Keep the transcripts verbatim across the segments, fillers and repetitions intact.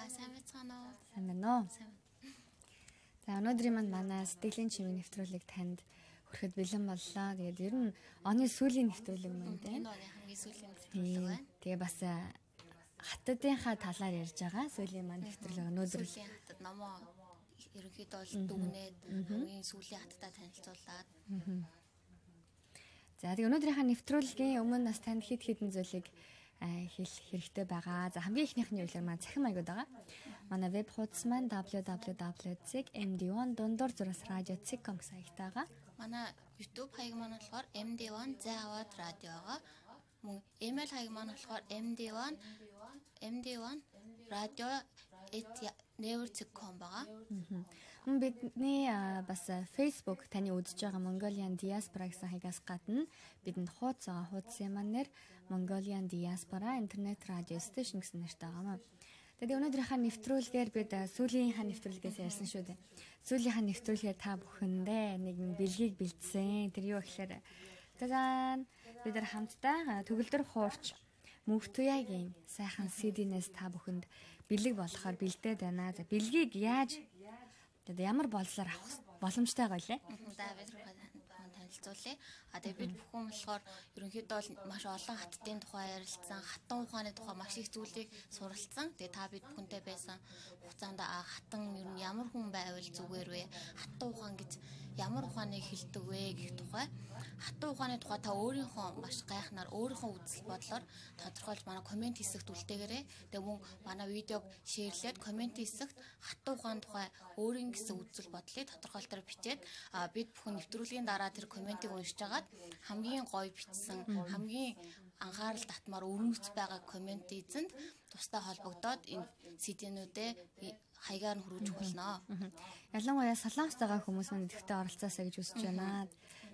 сайн байна уу? Сайн байна уу? За өнөөдрийн манд манай сэтгэлийн чимээ нэвтрүүлэг танд хүрэхэд бэлэн боллоо. Тэгээд ер нь оны сүүлийн нэвтрүүлэг маань тийм. Энэ оны хамгийн сүүлийн нэвтрүүлэг байна. Тэгээ бас хатадынхаа талаар ярьж байгаа. Сүүлийн маань нэвтрүүлэг өнөөдөр сүүлийн хатад номоо ерөнхийдөө бол дүгнээд хамгийн сүүлийн хатадаа танилцуулаад. За тэгээ өнөөдрийнхаа нэвтрүүлгийн өмнө бас танд хэд хэдэн зүйлийг хэлэх хэрэгтэй байгаа. За хамгийн ихнийх нь юу гэхээр маань цахим маягууд байгаа. Манай веб хуудас маань дабл ю дабл ю дабл ю точка эм ди один дундуур зураас радио точка ком гэсэн хаягтай байгаа. Манай YouTube хаяг маань болохоор эм ди один зэ аваад радиогаа. Мөн email хаяг маань болохоор эм ди один эм ди один радио эт never точка ком байгаа. Мөн бидний бас Facebook таны үзэж байгаа Mongolian Diaspora гэсэн хаягаас гадна бидэнд хуудас байгаа. Хуудсын маань нэр Mongolian Diaspora Internet Radio Station гэсэн нэртэй байгаа. Тэгээд өнөөдрийнхээ нэвтрүүлгээр бид сүүлийнхаа нэвтрүүлгээс ярьсан шүү дээ. Сүүлийнхаа нэвтрүүлгээр та бүхэндээ нэгэн бэлгийг бэлдсэн. Тэр юу гэхээр тагаан бид нар хамтдаа төгөлдөр хуурч Мөвтүягийн сайхан си ди-нээс та бүхэнд бэлэг болохоор бэлдээд байна. За бэлгийг яаж тэгээд ямар болцоор авах боломжтой байлаа? За бид танилцуулъя. А тэгээд бид бүхэн болохоор ерөнхийдөө маш олон хаттын тухай ярилцсан, хатан ухааны тухай маш их зүйлийг суралцсан. Тэгээд та бид бүхэнтэй байсан хугацаанд хатан ер нь ямар хүн байвал зүгээр вэ? Хатан ухаан гэж ямар ухааныг хэлдэг вэ гэх тухай. Хатан ухааны тухай та өөрийнхөө маш гайхнаар өөрийнхөө үзэл бодлоор тодорхойлж манай комент хэсэгт үлдээгээрэй. Тэгээд мөн манай видеог шеэрлээд комент хэсэгт хатан ухааны тухай өөрийн гэсэн үзэл бодлыг тодорхойлтоор бичээд бид бүхэн нэвтрүүлгийн дараа тэр комментиг уншиж агаад хамгийн гоё бичсэн, хамгийн анхаарал татмаар өрнөц байгаа коммент эзэнд тустай холбогдоод энэ си ди-нүүдээ хаягаар нь хүргэж болно. Ялангуяа Солонгост байгаа хүмүүс маань идэвхтэй оролцоосаа гэж хүсэж байна.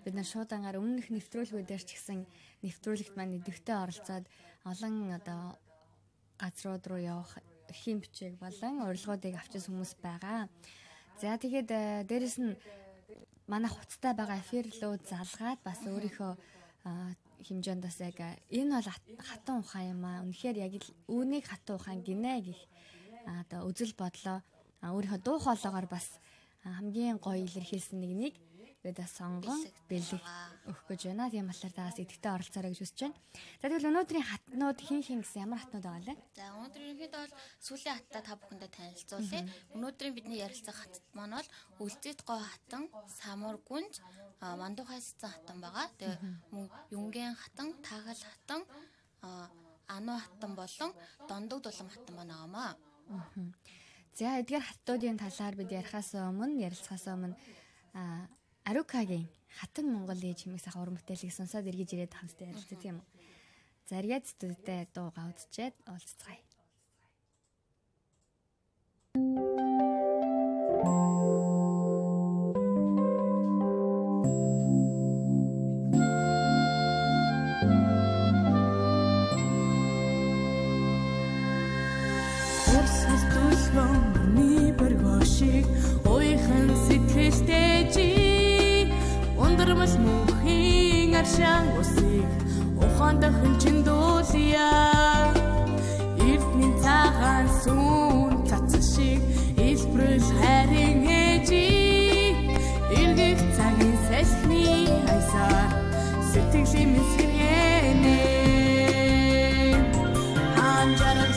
Бид нар шуудангаар өмнөх нэвтрүүлгүүдээр ч гэсэн нэвтрүүлэгт маань идэвхтэй оролцоод олон одоо газрууд руу явах эрхийн бичиг болон урилгуудыг авчиж хүмүүс байгаа. За тэгээд дээрэс нь манай хуцтай байгаа эфирлөө залгаад бас өөрийнхөө хэмжээнд бас яг энэ бол хатан ухаан юм аа. Үнэхээр яг үүнийг хатан ухаан гинэ гэх одоо үзэл бодлоо өөрийнхөө дуу хоолойгоор бас хамгийн гоё илэрхийлсэн нэгнийг бид сонгон бэлэг өгөх гэж байна. Тийм болохоор таас идэвхтэй оролцоорой гэж хүсэж байна. За тэгвэл өнөөдрийн хатнууд хин хин гэсэн ямар хатнууд байгаа лээ? За өнөөдөр ерөнхийдөө бол сүүлийн хаттай та бүхэндээ танилцуулъя. Өнөөдрийн бидний ярилцах хатт маань бол Үлзийт гой хатан, Самур гүнж, Мандухай сцэн хатан байгаа. Тэгээ мөн Юнгийн хатан, Тагал хатан, Ану хатан болон Дондог дулам хатан байна. За эдгээр хаттуудын талаар бид ярихаас өмнө ярилцахаас өмнө Арукагийн хатан Монгол ээж хэмээх сайхан уран бүтээлийг сонсоод эргэж ирээд хамтдаа ярилцъя тийм үү. За эргээд студидтэй дуугаа үзчихэд уулзцгаая. Ойхан сэтгэлтэй ундрмал мөнхийн аршаан усыг ухаанд хөнчин дуулъя. Эрдний цагаан сүн цацсан шиг илбрэл хайрын ээжийг эргэх цагийн салхины хайсаар сэтгэлийн мэсгэнэ. Анжаран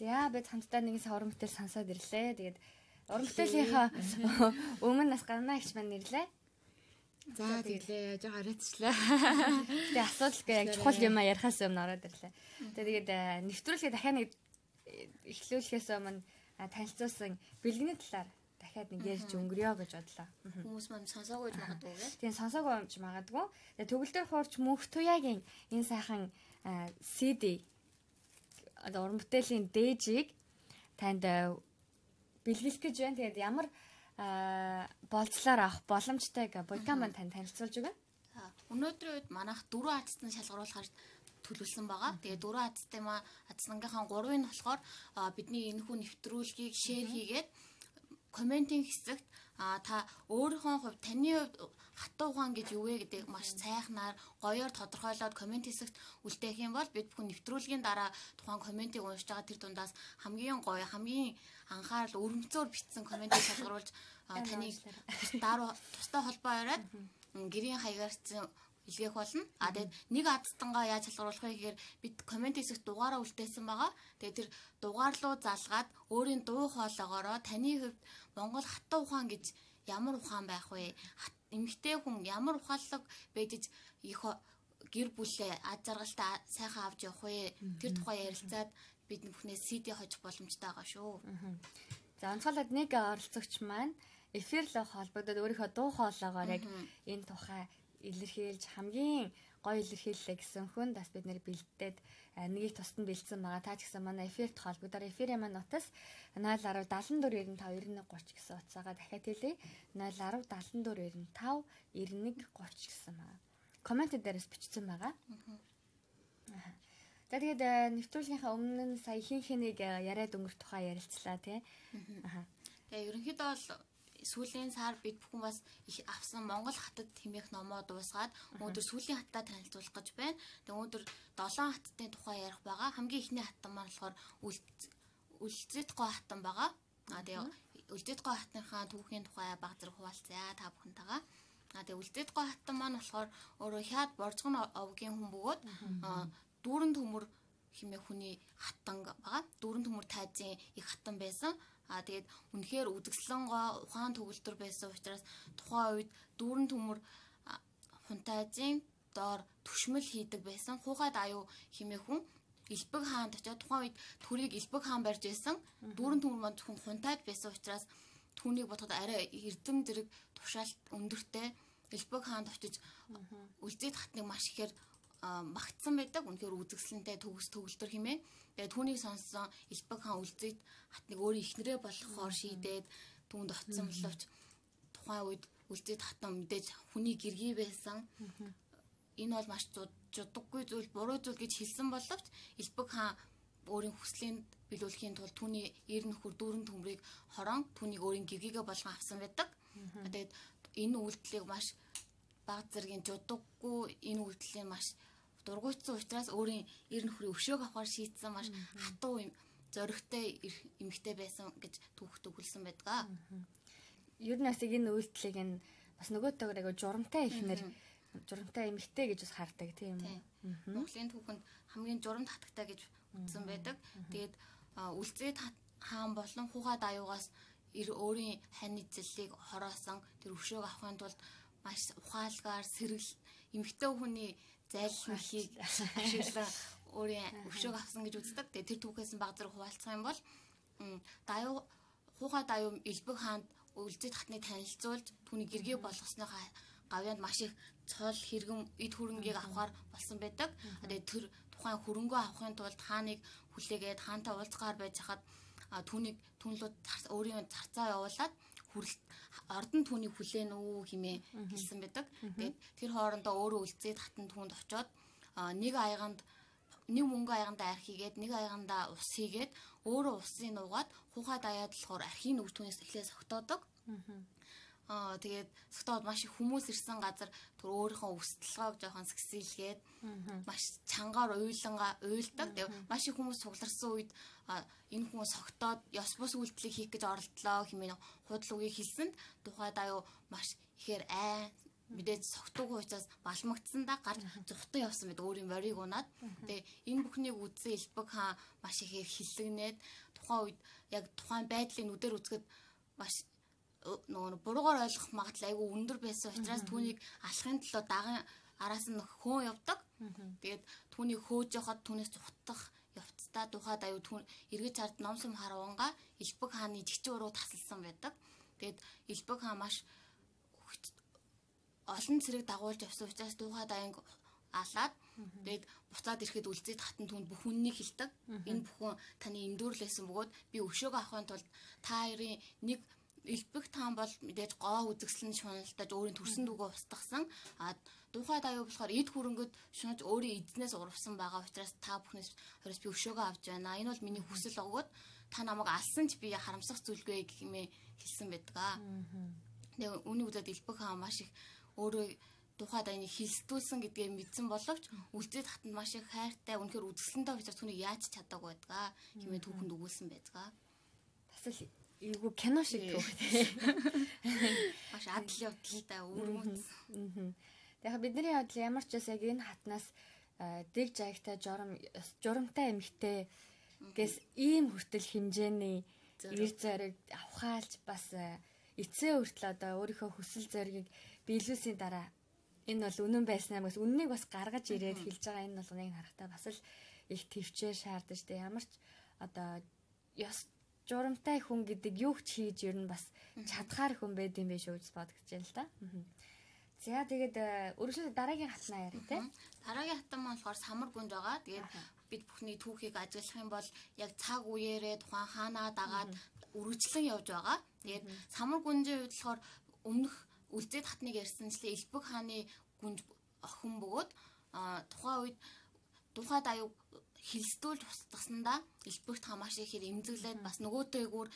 За бид хамтдаа нэгэн уран бүтээл сонсоод ирлээ. Тэгээд уран бүтээлийнхаа өмнө нас гарнаа гэж маань нэрлээ. За тэглээ жоо хараачлаа. Тэгээ асуудалгүй яг чухал юм а ярихаас өмнө ороод ирлээ. Тэгээд нэвтрүүлгээ дахиад нэг эхлүүлэхээс өмнө танилцуулсан бэлгэний талаар дахиад нэг ярьж өнгөрөө гэж бодлоо. Хүмүүс маань сонсоогүй ч магадгүй гэ. Тийм сонсоогүй ч магадгүй. Тэгээ төгөлдөр хуурч мөнх туяагийн энэ сайхан си ди одоо уран бүтээлийн дээжийг танд бэлгэлэх гэж байна. Тэгээд ямар болцлоор авах боломжтойг Буйкан маань танд танилцуулж өгнө. Өнөөдрийн үед манайх дөрвөн хацсан шалгаруулахаар төлөвлөсөн байгаа. Тэгээ дөрвөн хацтай маа хацсангийнхаа гурвыг нь болохоор бидний энэхүү нэвтрүүлгийг шеэр хийгээд комментийн хэсэгт та өөрийнхөө хувьд таны хувьд хатуу ухаан гэж юу вэ гэдэг маш сайхнаар гоёор тодорхойлоод коммент хэсэгт үлдээх юм бол бид бүхэн нэвтрүүлгийн дараа тухайн комментиг уншиж байгаа тэр дундаас хамгийн гоё хамгийн анхаарал өрөмцөөр бичсэн комментиг шалгаруулж таныг дараа тустай холбоо яриад гэрийн хаягаарсан илгээх болно. А тэгээд нэг адстангаа яаж шалгаруулах вэ гэхээр бид коммент хэсэгт дугаараа үлдээсэн байгаа. Тэгээд тэр дугаар руу залгаад өөрийн дуу хоолоогоороо таны хувьд Монгол хатуу ухаан гэж ямар ухаан байх вэ? Эмэгтэй хүн ямар ухаалаг байдж их гэр бүлээ ад жаргалтай сайхан авч явах вэ? Тэр тухай ярилцаад бид бүхнээс си ди хожих боломжтой байгаа шүү. За онцгойлоод нэг оролцогч маань эфирлээ холбогдоод өөрийнхөө дуу хоолоогоор яг энэ тухай илэрхийлж хамгийн гоё илэрхийллээ гэсэн хүн бас бид нэр бэлдээд нэгийг тусад нь бэлдсэн байгаа. Та ч гэсэн манай эфирт холбогдоор эфирийн маань утас нуль один седем дөрв нine five nine one zero гэсэн утсаагаа дахиад хэлье. нуль один седем дөрв nine five nine one zero гэсэн байгаа. Коммент дээрээс бичсэн байгаа. Аа. За тэгээд нэвтрүүлгийнхаа өмнө нь сая хин хэнийг яриад өнгөрөх тухай ярилцлаа тий. Аа. Тэгээ ерөнхийдөө бол сүүлийн сар бид бүхэн бас их авсан Монгол хатад хэмээх номоо дуусгаад өнөөдөр сүүлийн хаттаа танилцуулах гэж байна. Тэгээ өнөөдөр долоон хаттын тухай ярих байгаа. Хамгийн ихний хаттан маань болохоор Үлзэтгэй хаттан байгаа. Аа тэгээ Үлзэтгэй хатныхаа түүхийн тухай баг зэрэг хуваалцъя та бүхэнтэйгээ. Аа тэгээ Үлзэтгэй хаттан маань болохоор өөрөө хяад боржгон овгийн хүн бөгөөд дүүрэн төмөр хэмээх хүний хаттан байгаа. Дүүрэн төмөр тайзын их хаттан байсан. А тэгээд үнэхээр үзэсгэлэн гоо ухаан төгөлдөр байсан учраас тухайн үед дүүрэн төмөр хунтайзын доор түшмэл хийдэг байсан. Хугад аюу хэмээх хүн Элбэг хаанд очиод тухайн үед төрийг Элбэг хаан барьж байсан. Дүүрэн төмөр маань зөвхөн хунтайд байсан учраас түүнийг бодоход арай эрдэм зэрэг тушаалт өндөртэй Элбэг хаанд очиж Үлзийд хатныг маш ихээр магтсан байдаг. Үнэхээр үзэсгэлэнтэй төгс төгөлдөр хэмээн. Тэгээ түүнийг сонссон Элбэг хаан Үлзийд хатныг өөрөө ихнэрээ болохоор шийдээд түүнд очсон боловч тухайн үед Үлзийд хатан мэдээж хүний гэргий байсан. Энэ бол маш жудаггүй зүйл, буруу зүйл гэж хэлсэн боловч Элбэг хаан өөрийн хүслийн биелүүлэхийн тулд түүний эр нөхөр дүүрэн төмрийг хорон түүнийг өөрийн гэргийгээ болгон авсан байдаг. Тэгээд энэ үйлдэлийг маш баг зэргийн жудаггүй энэ үйлдэлийн маш дургуйтсан учраас өөрийн эр нөхрийн өшөөг авахар шийдсэн маш хатуу юм зоригтой эмэгтэй байсан гэж түүхт өгүүлсэн байдаг. Ер нь бас энэ үйлдэлийг нь бас нөгөөтэйгээр айгу журамтай ихнэр журамтай эмэгтэй гэж бас хардаг тийм үү? Монголын түүхэнд хамгийн журамт хатагтай гэж үзсэн байдаг. Тэгээд Үлзийд хаан болон Хугад аюугаас өөрийн хань эзлэлийг хороосон тэр өшөөг авахын тулд маш ухаалгаар сэргэл эмэгтэй хүний зайлшгүй ашиглан өөрийн өшөөг авсан гэж үздэг. Тэгээ тэр түүхээс баг зэрэг хуваалцах юм бол даюу Хугад аюу Элбэг хаанд Үлзийд хатныг танилцуулж түүний гэргийг болгосныхаа гавьянд маш их цол хэрэгэн эд хөрөнгийг авахар болсон байдаг. Тэгээ тэр тухайн хөрөнгөө авахын тулд хааныг хүлээгээд хаантай уулзгаар байж хахад түүнийг түнлүүд өөрийн зарцаа явуулаад хүрэлт ордон түүнийг хүлээн үү хэмээн хэлсэн байдаг. Тэгээд тэр хоорондоо өөрөө Үлзийд хатан түүнд очиод нэг аяганд нэг мөнгө аягандаа арх хийгээд нэг аягандаа ус хийгээд өөрөө усын нуугаад Хугад аяад болохоор архийн үг түүнээс эхлээ согтоодог. Аа тэгээд согтоод маш их хүмүүс ирсэн газар тэр өөрийнхөө өсөлгөөг жоохон сэгсэлгээд маш чангаар уйланга уйлдаг. Тэгээд маш их хүмүүс сугларсан үед энэ хүмүүс согтоод ёс бус үйлдэлийг хийх гэж оролдлоо хэмээн худал үгийг хэлсэнд тухайд аюу маш ихээр ай мэдээж согтуугүй учраас балмагдсандаа гарч зүхтэн явсан байдаг өөрийн морийг унаад. Тэгээ энэ бүхнийг үзсэн Элбэг хаан маш ихээр хиллэгнээд тухайн үед яг тухайн байдлыг нүдээр үзэхэд маш нөгөө буруугаар ойлгох магадлал айгүй өндөр байсан учраас түүнийг алахын төлөө даган араас нь хөөн явдаг. Тэгээд түүнийг хөөж явахад түүнээс зүхтах явцдаа тухайд аюу түн эргэж хард номсом хараванга Элбэг хааны жигчээ уруу тасалсан байдаг. Тэгээд Элбэг хаан маш олон цэрэг дагуулж явсан учраас тухайд аянг алаад тэгээд буцаад ирэхэд үлзээд хатан түнд бүх үннийг хэлдэг. Энэ бүхэн таны эндүүрлээсэн бөгөөд би өшөөгөө авахын тулд та хоёрын нэг Элбэг хаан бол мэдээж гоо үзэгслэн шуналтаж өөрийн төрсөн дүүгөө устгасан. А тухайд аюу болохоор эд хөрөнгөд шунаж өөрийн эзнээс урвсан байгаа учраас та бүхнээс хоёроос би өшөөгөө авч байна. Энэ бол миний хүсэл өгөөд та намайг алсан ч би харамсах зүйлгүй гэмээ хэлсэн байдаг аа. Тэгээ үүний үдээд Элбэг хаан маш их өөрөө тухайд аяны хилстүүлсэн гэдгээ мэдсэн боловч үлзээд хатанд маш их хайртай үнэхээр үзэсгэлэнтэй учраас түүнийг яаж чадаагүй байдаг хэмээн түүхэнд өгүүлсэн байдаг. Бас л эйгүү кино шиг түүхтэй. Маш адал явдалтай өргөмц. Тэгэхээр бидний бодол ямар ч бас яг энэ хатнаас дэг жаагтай журам журамтай эмхтэй гэс ийм хүртэл хэмжээний ир зэрэг авахаалж бас эцээ хүртэл одоо өөрийнхөө хүсэл зоригийг биелүүлсийн дараа энэ бол үнэн байснаа бас үннийг бас гаргаж ирээд хэлж байгаа энэ болгоныг харахтаа бас л их төвчээр шаардаж тэ ямар ч одоо ёс журамтай хүн гэдэг юу ч хийж ер нь бас чадхаар хүн байд юм биш үү гэж бодож байна л да. За тэгээд өргөжлөлт дараагийн хатнаа яриа тэ. Дараагийн хатан маань болохоор самар гүнж байгаа. Тэгээд бид бүхний түүхийг ажиглах юм бол яг цаг үеэрээ тухайн хаанаа дагаад үргэлжлэн явж байгаа. Тэгээд самар гүнжийн хувьд болохоор өмнөх үлзээд хатныг ярьсанчлаа Элбэг хааны гүнж охин бөгөөд тухайн үед тухайд аюу хилстүүлж устгаснаа Элбэгт хаан маш ихээр эмзэглээд бас нөгөөтэйгүүр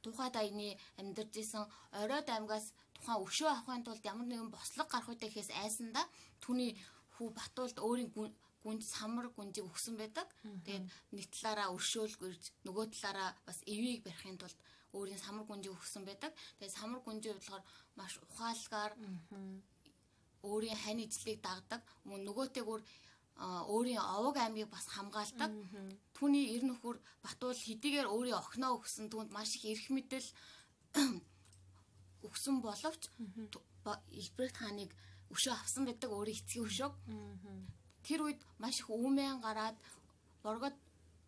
тухайд аяны амьдарч исэн оройд аймгаас тухайн өшөө авахын тулд ямар нэгэн бослог гарах үедээ гэхээс айсандаа түүний хүү Батуулд өөрийн гүнж самар гүнжийг өгсөн байдаг. Тэгээд нэг талаараа өршөөлг ирж нөгөө талаараа бас эвийг барихын тулд өөрийн самар гүнжийг өгсөн байдаг. Тэгээд самар гүнжийн болохоор маш ухаалгаар өөрийн хань ижлийг дагдаг. Мөн нөгөөтэйгүүр өөрийн овог аймгийг бас хамгаалдаг. Түүний эр нөхөр Батуул хэдийгээр өөрийн охиноо өгсөн түүнд маш их эрх мэдэл өгсөн боловч Элбэг хааныг өшөө авсан байдаг өөрийн эцгийн өшөөг. Тэр үед маш их үүмэн гараад боргод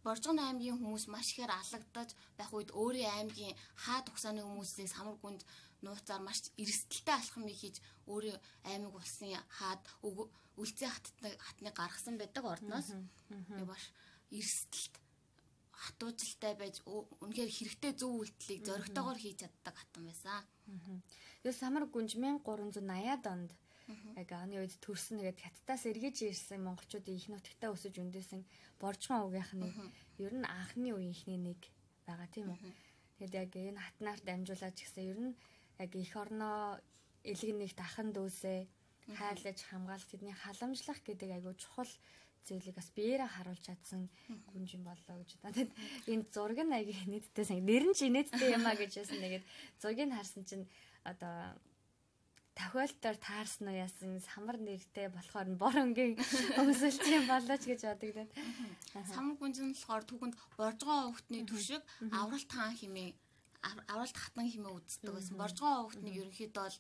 Боржгон аймгийн хүмүүс маш ихээр алагдаж байх үед өөрийн аймгийн хаад угсааны хүмүүсийг самар гүнд нууцаар маш эрсдэлтэй алхам хийж өөрийн аймаг улсын хаад үлзээ хатныг гаргасан байдаг ордноос. Тэг маш эрсдэлт хатуужилтай байж үнэхээр хэрэгтэй зөв үйлдэлийг зоригтойгоор хийж чаддаг хатан байсан. Тэгээ самар гүнж мянга гурван зуун аяад онд яг оны үед төрсөн тэгээд хаттаас эргэж ирсэн монголчуудын их нутагтаа өсөж өндөөсөн Боржгон өвгийнхний ер нь анхны үеийнхний нэг байгаа тийм үү. Тэгээд яг энэ хатнаар дамжуулаад ч гэсэн ер нь яг эх орноо элэг нэгт ахан дүүсээ хайлаж хамгаалах тэдний халамжлах гэдэг айгүй чухал зүйлийг бас биеэрээ харуулж чадсан гүнж юм болоо гэж бодоо. Тэгэд энэ зураг нь аягүй нийтдээ сан нэр нь ч инээдтэй юм а гэж байсан. Тэгээд зургийг харсан чинь одоо тохиолдолд таарсан уу яасан самар нэртэй болохоор нь бор өнгийн өмсөлт юм болооч гэж бодогдоод. Самар гүнж нь болохоор түүхэнд Боржгон өвгтний төшиг авралт хаан хэмээн авралт хатан хэмээн үздэг байсан. Боржгон өвгтнийг ерөнхийдөө бол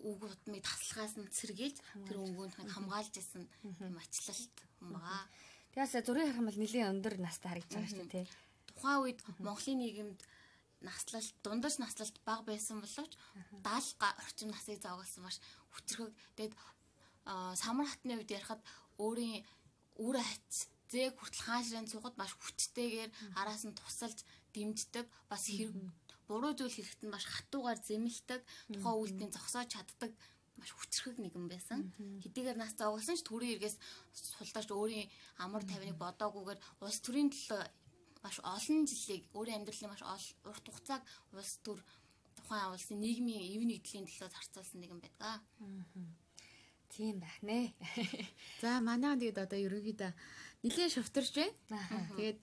үг утмыг таслахаас нь сэргийлж тэр өнгөнд хамгаалж исэн юм ачлалт юм байгаа. Тэгээс зургийг харах юм бол нэлийн өндөр настай харагдаж байгаа шүү дээ. Тухайн үед Монголын нийгэмд наслалт дундаж наслалт бага байсан боловч даалга орчим насыг зоогоолсон маш хүчрхэг. Тэгэд самар хатны үед ярихад өөрийн үр хац зээг хүртэл хаан ширээн цугад маш хүчтэйгээр араас нь тусалж дэмждэг бас хэрэг буруу зүйл хэрэгт нь маш хатуугаар зэмлдэг тухайн үйлдэлийг зогсоож чаддаг маш хүчрхэг нэгэн байсан. Хэдийгээр нас зоогоолсон ч төрийн эргээс сулдаж өөрийн амар тавиныг бодоогүйгээр улс төрийн төлөө маш олон жилийг өөрийн амьдралын маш урт хугацааг улс төр тухайн улсын нийгмийн эв нэгдлийн төлөө зарцуулсан нэгэн байдаг. Тийм байх нэ. За манай тэгээд одоо ерөнхийдөө нэлээд шувтарч байна. Тэгээд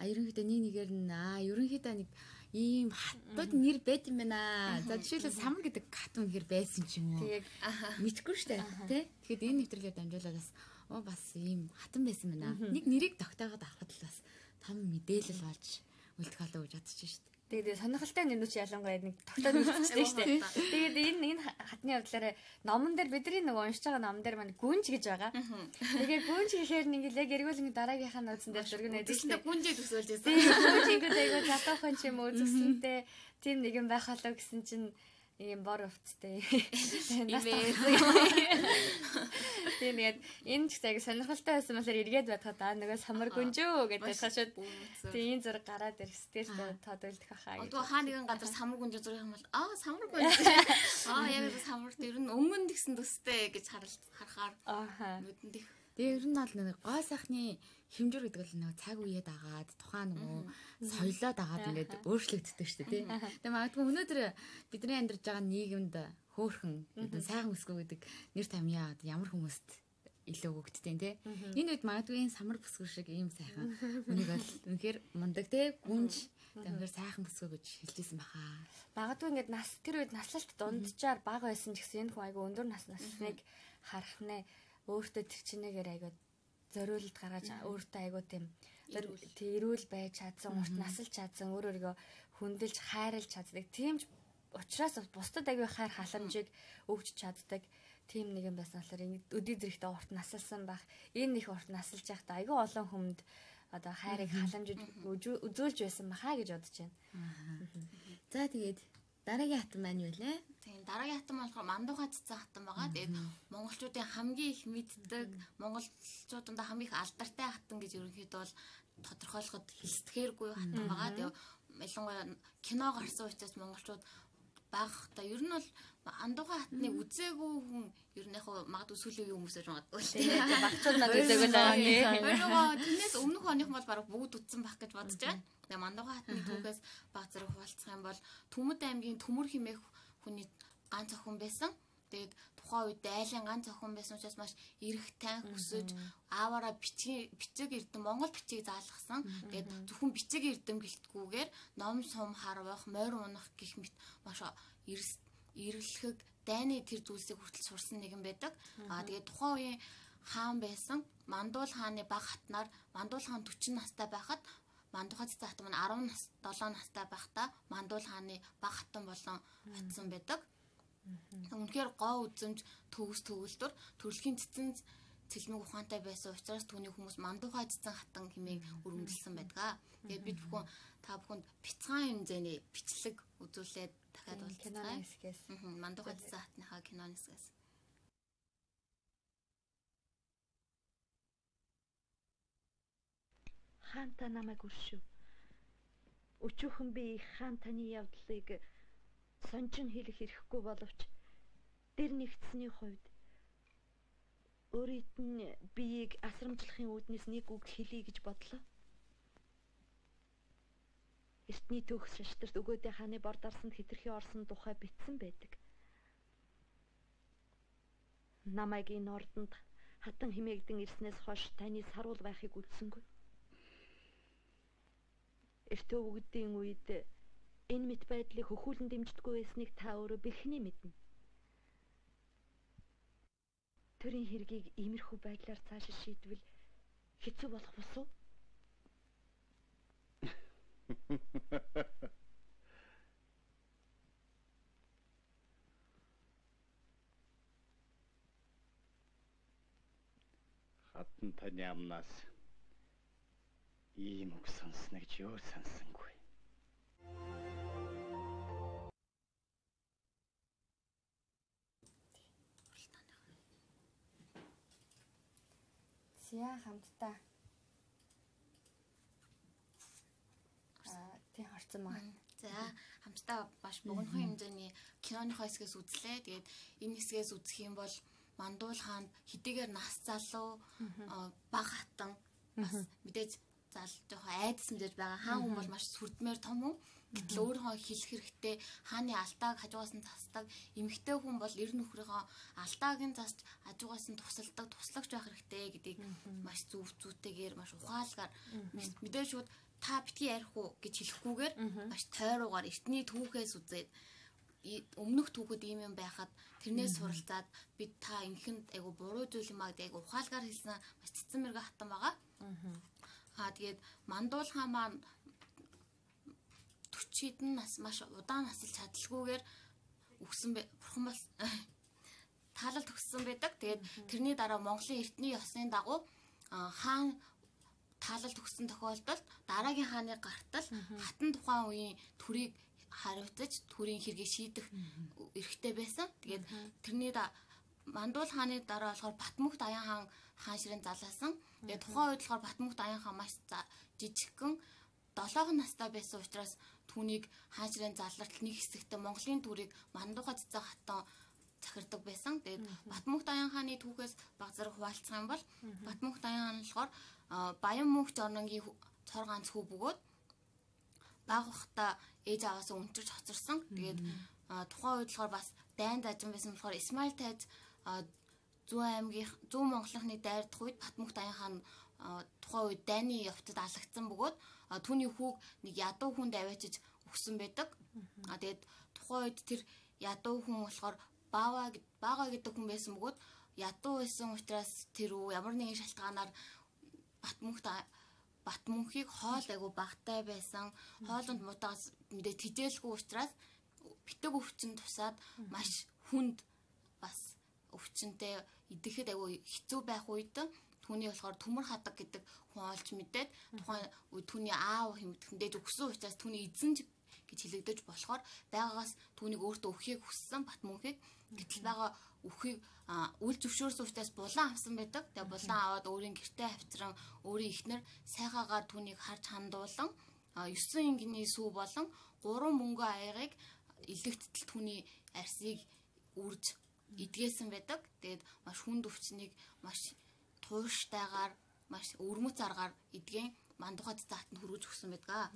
ерөнхийдөө нэг нэгээр нь аа ерөнхийдөө нэг ийм хатууд нэр байд юм байна. За жишээлбэл самар гэдэг хат үнэхээр байсан ч юм уу. Тэгээд мэдгүй штэ тий. Тэгэхэд энэ нэвтрүүлгээр дамжуулаад бас оо бас ийм хатан байсан байна. Нэг нэрийг тогтоогоод авахд л бас том мэдээлэл болж үлдэх болов гэж бодчих штэ. Тэгээд сонирхолтой нэрнүүч ялангуяа нэг тогтоод үлдчихсэн шүү дээ. Тэгээд энэ энэ хатны явдлаараа номон дээр бидний нөгөө уншиж байгаа номон дээр маань гүнж гэж байгаа. Тэгээд гүнж гэхээр нэг л яг эргүүлэн дараагийнхаа нууцсан дээр зургнаа тийм гүнжээ төсөөлж байсан. Гүнжийг айгуу залуухан ч юм уу зүсэнтэй тийм нэг юм байх болов гэсэн чинь ийм бор өвцтэй. Тэгээд энэ ч яг сонирхолтой байсан болохоор эргээд бодоход аа нөгөө самар гүнжөө гэдэг хашаад тийм зураг гараад ирэх сэтгэл тодуулдах хаа. Одоо хаа нэгэн газар самар гүнжөө зураг юм бол аа самар гүнжөө. Аа яг л самар дээр нь өмнө нь гэсэн төстэй гэж харахаар ааха. нүдэнд их. Тэгээ ер нь бол нэг гой сайхны хэмжүүр гэдэг бол нэг цаг үеэд агаад тухайн нөгөө соёлоод агаад ингээд өөрчлөгддөг шүү дээ тий. Тэгээ магадгүй өнөөдөр бидний амьдарч байгаа нийгэмд хөөхөн гэдэг сайхан бүсгүй гэдэг нэр томьёо ямар хүмүүст илүү өгддөг тий. Энэ үед магадгүй энэ самар бүсгүй шиг ийм сайхан үнийг бол үнэхээр мундаг тий гүнж тэгэхээр сайхан бүсгүй гэж хэлжсэн баха. Магадгүй ингээд нас тэр үед наслалт дунджаар бага байсан ч гэсэн энэ хүн айгүй өндөр нас насныг харах нэ өөртөө тэр чинээгээр айгүй зориулт гаргаж өөртөө айгүй тийм тэрүүл байж чадсан, урт насалж чадсан, өөр өөрийгөө хүндэлж хайрлж чаддаг. Тийм ч учраас бусдад айгүй хайр халамжийг өгч чаддаг. Тийм нэг юм байсан болохоор өдий зэрэгтэй урт насалсан байх. Энэ их урт насалж байхдаа айгүй олон хүнд одоо хайрыг халамжиж үзүүлж байсан баха гэж бодож байна. За тэгээд дараагийн хатан маань юу вэ? Тийм дараагийн хатан болохоор мандууга цэцэн хатан байгаа. Тэгээд монголчуудын хамгийн их мэддэг, монголчуудад хамгийн их алдартай хатан гэж ерөнхийдөө бол тодорхойлоход хэлсдэхээргүй хатан байгаа. Тэгээд ялангуяа кино гарсан учраас монголчууд багта ер нь бол андууга хатныг үзээгүй хүн ер нь яг магадгүй сүүлийн үеийн хүмүүсээр магадгүй тийм багцууд надад үзээгүй байгаа. Өөрөө тэрнээс өмнөх оных бол бараг бүгд үтсэн байх гэж бодож байна. Тэгээ мандууга хатны түүхээс баг зэрэг хуваалцах юм бол Төмөд аймгийн Төмөр хэмээх хүний ганц охин байсан. Тэгээд тухайн үед айлын ганц охин байсан учраас маш эрэгтэй хүсэж ааваараа бичиг бичиг эрдэм Монгол бичиг заалгасан. Тэгээд зөвхөн бичиг эрдэм гэлтгүүгээр ном сум харвах, морь унах гэх мэт маш эрлэхэг дайны тэр зүйлсийг хүртэл сурсан нэгэн байдаг. Аа тэгээд тухайн үеийн хаан байсан. Мандуул хааны баг хатнаар Мандуул хаан дөрвөн настай байхад Мандууга цэцэн хатан маань арван долоо настай байхдаа Мандуул хааны баг хатан болон атсан байдаг. Үнэхээр гоо үзэмж төгс төгөлдөр төрөлхийн цэцэн цэлмэг ухаантай байсан учраас түүний хүмүүс Мандууга цэцэн хатан хэмээн өргөмжилсөн байдаг. Тэгээд бид бүхэн та бүхэнд бяцхан хэмжээний бичлэг үзүүлээд дахиад уулзцгаая. Мандууга цэцэн хатныхаа киноны хэсгээс. Хаан та намайг өршөв. Өчүүхэн би хаан таны явдлыг сончин хэлэх эрхгүй боловч дэр нэгтсэний хувьд өөрийгөө нь биеийг асрамжлахын үүднээс нэг үг хэлье гэж бодлоо. Эртний төгс шаштрт өгөөдөө хааны бор дарсанд хэтэрхий орсон тухай бичсэн байдаг. Намайг энэ ордонд хатан химээгдэн ирснээс хойш таны саруул байхыг үлдсэнгүй. Эртөө өгдийн үед энэ мэт байдлыг хөхүүлэн дэмждэггүй байсныг та өөрөө бэлхний мэднэ. Төрийн хэргийг иймэрхүү байдлаар цааш шийдвэл хэцүү болох босуу. Хатан таны амнаас ийм үг сонсноо гэж юу сонсонгүй. Сия хамтдаа аа тий харцсан маа. За хамтдаа баш богинохон хэмжээний киноныхоо хэсгээс үзлээ. Тэгээд энэ хэсгээс үзэх юм бол Мандуул хаанд хэдийгээр нас залуу баг хатан бас мэдээж зал жоохон айдас мэдээж байгаа. Хаан хүн бол маш сүрдмээр том хүн. Гэтэл өөрөө хэлэх хэрэгтэй хааны алдааг хажуугаас нь засдаг. Эмэгтэй хүн бол эр нөхрийнхөө алдааг нь засч хажуугаас нь тусалдаг, туслагч байх хэрэгтэй гэдгийг маш зөв зүйтэйгээр маш ухаалгаар мэдээж шууд та битгий ярих уу гэж хэлэхгүйгээр маш тойруугаар эртний түүхээс үзээд өмнөх түүхэд ийм юм байхад тэрнээс суралцаад бид та ингэхэнд айгу буруу зүйл юм аа гэдэг айгу ухаалгаар хэлсэн маш цэцэн мэрэгэн хатан байгаа. Аа тэгээд Мандуул хаан маань төрчид нь нас маш удаан насалж чадалгүйгээр өгсөн бурхан бас таалал төгссөн байдаг. Тэгээд тэрний дараа Монголын эртний ёсны дагуу хаан таалал төгссөн тохиолдолд дараагийн хааны гартал хатан тухайн үеийн төрийг хариуцаж төрийн хэргийг шийдэх эрхтэй байсан. Тэгээд тэрний Мандуул хааны дараа болохоор Батмүхт Аян хаан хаан ширээн залаасан. Тэгээд тухайн үед болохоор Батмүхт Аян хаан маш жижигхэн долоон настай байсан учраас түүнийг хаан ширээн залралтал нэг хэсэгтээ Монголын төрийг Мандуухай цэцэн хатан захирдаг байсан. Тэгээд Батмүхт Аян хааны түүхээс баг зэрэг хуваалцах юм бол Батмүхт Аян хаан болохоор Баян мөнх орнонгийн цор ганц хүү бөгөөд баг бахта ээж аваасаа өнтөрч хоцорсон. Тэгээд тухайн үед болохоор бас дайн дажин байсан болохоор Исмаил тайз Зүүн аймгийн Зүүн Монголынхны дайрдах үед Батмүхт Аян хаан тухайн үед дайны явцад алагдсан бөгөөд түүний хүүг нэг ядуу хүнд аваачиж өгсөн байдаг. А тэгээд тухайн үед тэр ядуу хүн болохоор Баава Баага гэдэг хүн байсан бөгөөд ядуу байсан учраас тэр үү ямар нэгэн шалтгаанаар Батмүхт Батмүхийг хоол айгу багтай байсан. Хоолонд мутаас мэдээ тижээлгүй учраас битэг өвчин тусаад маш хүнд бас өвчнөд идэхэд айгу хэцүү байх үед түүний болохоор Төмөр хадаг гэдэг хүн олж мэдээд тухайн түүний аав хэмтгэндээ өгсөн учраас түүний эзэн гэж хэлэгдэж болохоор байгаагаас түүнийг өөртөө өхийг хүссэн Батмүхийг гэтэл байгаа өхийг үл зөвшөөрсөн учраас булан авсан байдаг. Тэгээ булан аваад өөрийн гэртээ хавцран өөрийн ихнэр сайхаагаар түүнийг харж хандуулан ёсон ингийн сүү болон гурван мөнгө аягийг илэгдтэл түүний арсыг үрж идгээсэн байдаг. Тэгээд маш хүнд өвчнийг маш туйштайгаар маш өрмөц аргаар идгэн Мандуухай цэцэн хатанд хүргэж өгсөн байдаг.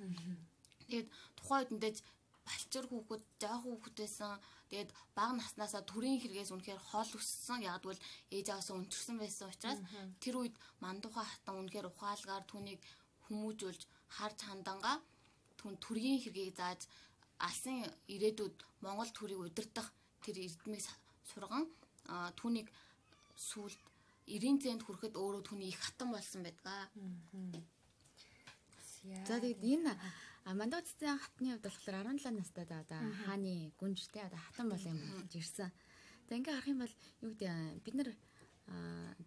Тэгээд тухайн үед мэдээж балчир хүүхэд, жоох хүүхэд байсан. Тэгээд бага наснаасаа төрийн хэрэгээс үнэхээр хол өссөн. Яг бол ээж аваасаа өнтөрсөн байсан учраас тэр үед Мандуухай хатан үнэхээр ухаалгаар түүнийг хүмүүжүүлж харж хандангаа түн төрийн хэргийг зааж алсын ирээдүйд Монгол төрийг удирдах тэр эрдмийг сурган түүнийг сүлд эрийн зэнд хүрэхэд өөрөө түүний их хатан болсон байдаг. За тэгээд энэ Мандуухай цэцэн хатны хувьд болохоор арван долоо настай одоо хааны гүнжтэй одоо хатан бол юм болж ирсэн. За ингээ харах юм бол юу гэдэг бид нар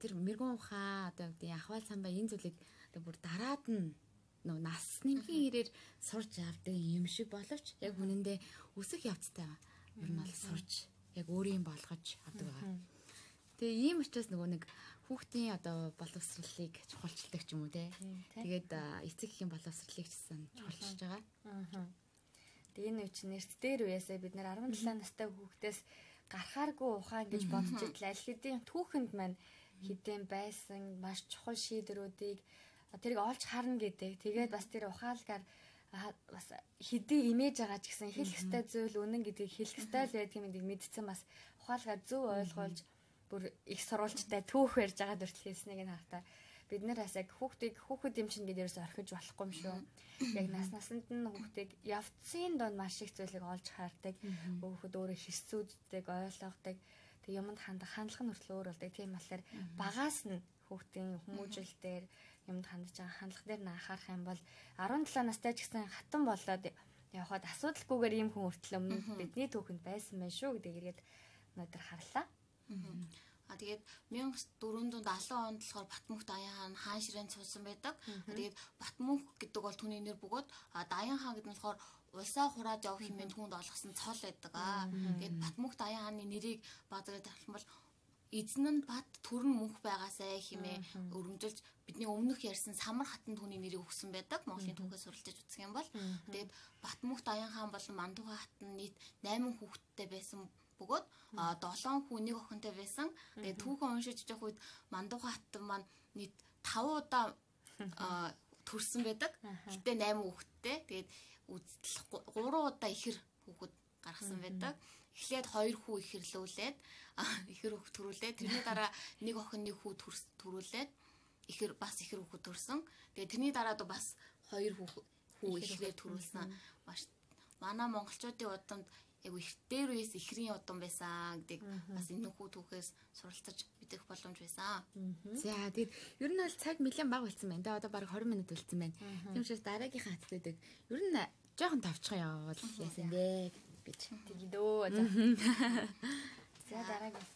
тэр мэрэгэн ухаан одоо юу гэдэг ахвал самбай энэ зүйлийг одоо бүр дараад нь нөө нас нэмхийн ирээр сурж авдаг юм шиг боловч яг үнэндээ өсөх явцтай ер нь бол сурж яг өөрийн болгож авдаг байгаа. Тэгээ ийм учраас нөгөө нэг хүүхдийн одоо боловсролыг чухалчилдаг ч юм уу те. Тэгээд эцэг эхийн боловсролыг чсэн чухалчилж байгаа. Аа. Тэгээ энэ үуч нэрт дээр үеэсээ бид нэр арван долоо настай хүүхдээс гарахааргүй ухаан гэж бодож итэл аль хэдийн түүхэнд маань хідэн байсан маш чухал шийдвэрүүдийг тэрийг олж харна гэдэг. Тэгээд бас тэр ухаалгаар бас хэдий имэж байгаа ч гэсэн хэлэх ёстой зүйл үнэн гэдгийг хэлэх ёстой л байдаг юм гэдгийг мэдсэн бас ухаалгаар зөв ойлгуулж бүр их сурвалжтай түүх барьж байгаа дүртэл хэлснийг нь харахтаа бид нар бас яг хүүхдийг хүүхэд юм чинь гэдээрээс орхиж болохгүй юм шүү. Яг нас насанд нь хүүхдийг явцын донд маш их зүйлийг олж хардаг. Хүүхэд өөрөө хэсцүүддэг, ойлгодог. Тэг юмд хандах хандлага нь хүртэл өөр болдог. Тийм болохоор багаас нь хүүхдийн хүмүүжил дээр юмд хандж байгаа хандлага дээр нь анхаарах юм бол арван долоо настай ч гэсэн хатан болоод явхад асуудалгүйгээр ийм хүн хүртэл өмнө бидний түүхэнд байсан байх шүү гэдэг ирээд өнөөдөр харлаа. А тэгээд мянга дөрвөн даалан онд болохоор Батмүхт Аян хаан хаан ширээн цуусан байдаг. Тэгээд Батмүх гэдэг бол түүний нэр бөгөөд Аян хаан гэдэг нь болохоор улсаа хурааж явах хэмээн түүнд олгосон цол байдаг. Тэгээд Батмүхт Аян хааны нэрийг баазараа тавьсан бол эзэн нь бат төрн мөнх байгаасай хэмээн өргөмжилж бидний өмнөх ярьсан Самар хатан түүний нэрийг өгсөн байдаг. Монголын түүхээс суралцаж үзэх юм бол тэгээд Батмүхт Аян хаан болон Мандуухай хатан нийт найман хүүхэдтэй байсан бөгөөд долоон хүн нэг охинтой байсан. Тэгээд түүхэн уншиж явах үед Мандуухай хатан маань нийт таван удаа төрсөн байдаг. Гэтэ найман хүүхэдтэй. Тэгээд гурван удаа ихэр хүүхэд гаргасан байдаг. Эхлээд хоёр хүү ихэрлүүлээд ихэр хүүхэд төрүүлээд тэрний дараа нэг охин нэг хүү төрүүлээд ихэр бас ихэр хүүхэд төрсөн. Тэгээд тэрний дараа бас хоёр хүү хүү ихрээр төрүүлсэн маш манай монголчуудын удамд яг их дээр үес ихрийн удам байсан гэдэг бас энэ хүү түүхээс суралцаж мэдэх боломж байсан. За тэгээд ер нь бол цаг нэлээд бага болсон байна. Тэгээ одоо бараг тwenty минут болсон байна. Тийм учраас дараагийнхаа хатдаг ер нь жоохон тавчхан явал яасан бэ гэж тэгдөө. За дараагийн.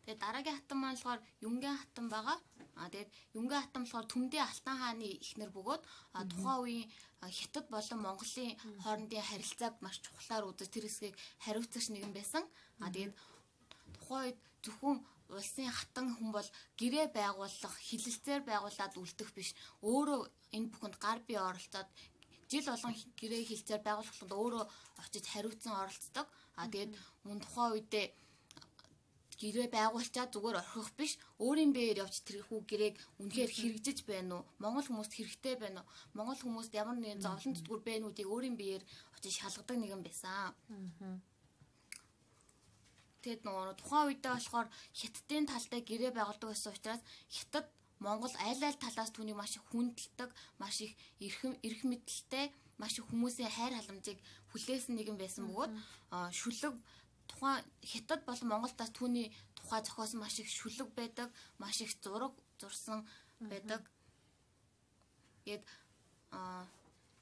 Тэгээд дараагийн хатан маань болохоор Юнгийн хатан байгаа. А тэгээд Юнгийн хатан болохоор Төмдийн Алтан хааны эхнэр бөгөөд тухайн үеийн Хятад болон Монголын хоорондын харилцааг маш чухлаар үзэж тэр хэсгийг хариуцагч нэгэн байсан. А тэгээд тухайн үед зөвхөн улсын хатан хүн бол гэрээ байгуулах, хилэлцээр байгуулад үлдэх биш. Өөрөө энэ бүхэнд гар бие оролцоод жил болгон гэрээ хилцээр байгуулахад өөрөө очиж хариуцсан оролцдог. А тэгээд мөн тухайн үедээ гэрээ байгуулчаад зүгээр орхих биш, өөрийн биеэр явж тэр хүү гэрээг үнэхээр хэрэгжиж байна уу? Монгол хүмүүст хэрэгтэй байна уу? Монгол хүмүүст ямар нэгэн зовлон зүтгүр байна үүдийг өөрийн биеэр очиж шалгадаг нэгэн байсан. Тэгэд нөгөө тухайн үедээ болохоор Хятадын талтай гэрээ байгуулдаг байсан учраас Хятад Монгол айл айл талаас түүнийг маш их хүндэлдэг, маш их эрхэм эрх мэдэлтэй, маш их хүмүүсийн хайр халамжийг хүлээсэн нэгэн байсан бөгөөд шүлэг тухайн Хятад болон Монголдаас түүний тухай зохиосон маш их шүлэг байдаг, маш их зураг зурсан байдаг. Тэгэд аа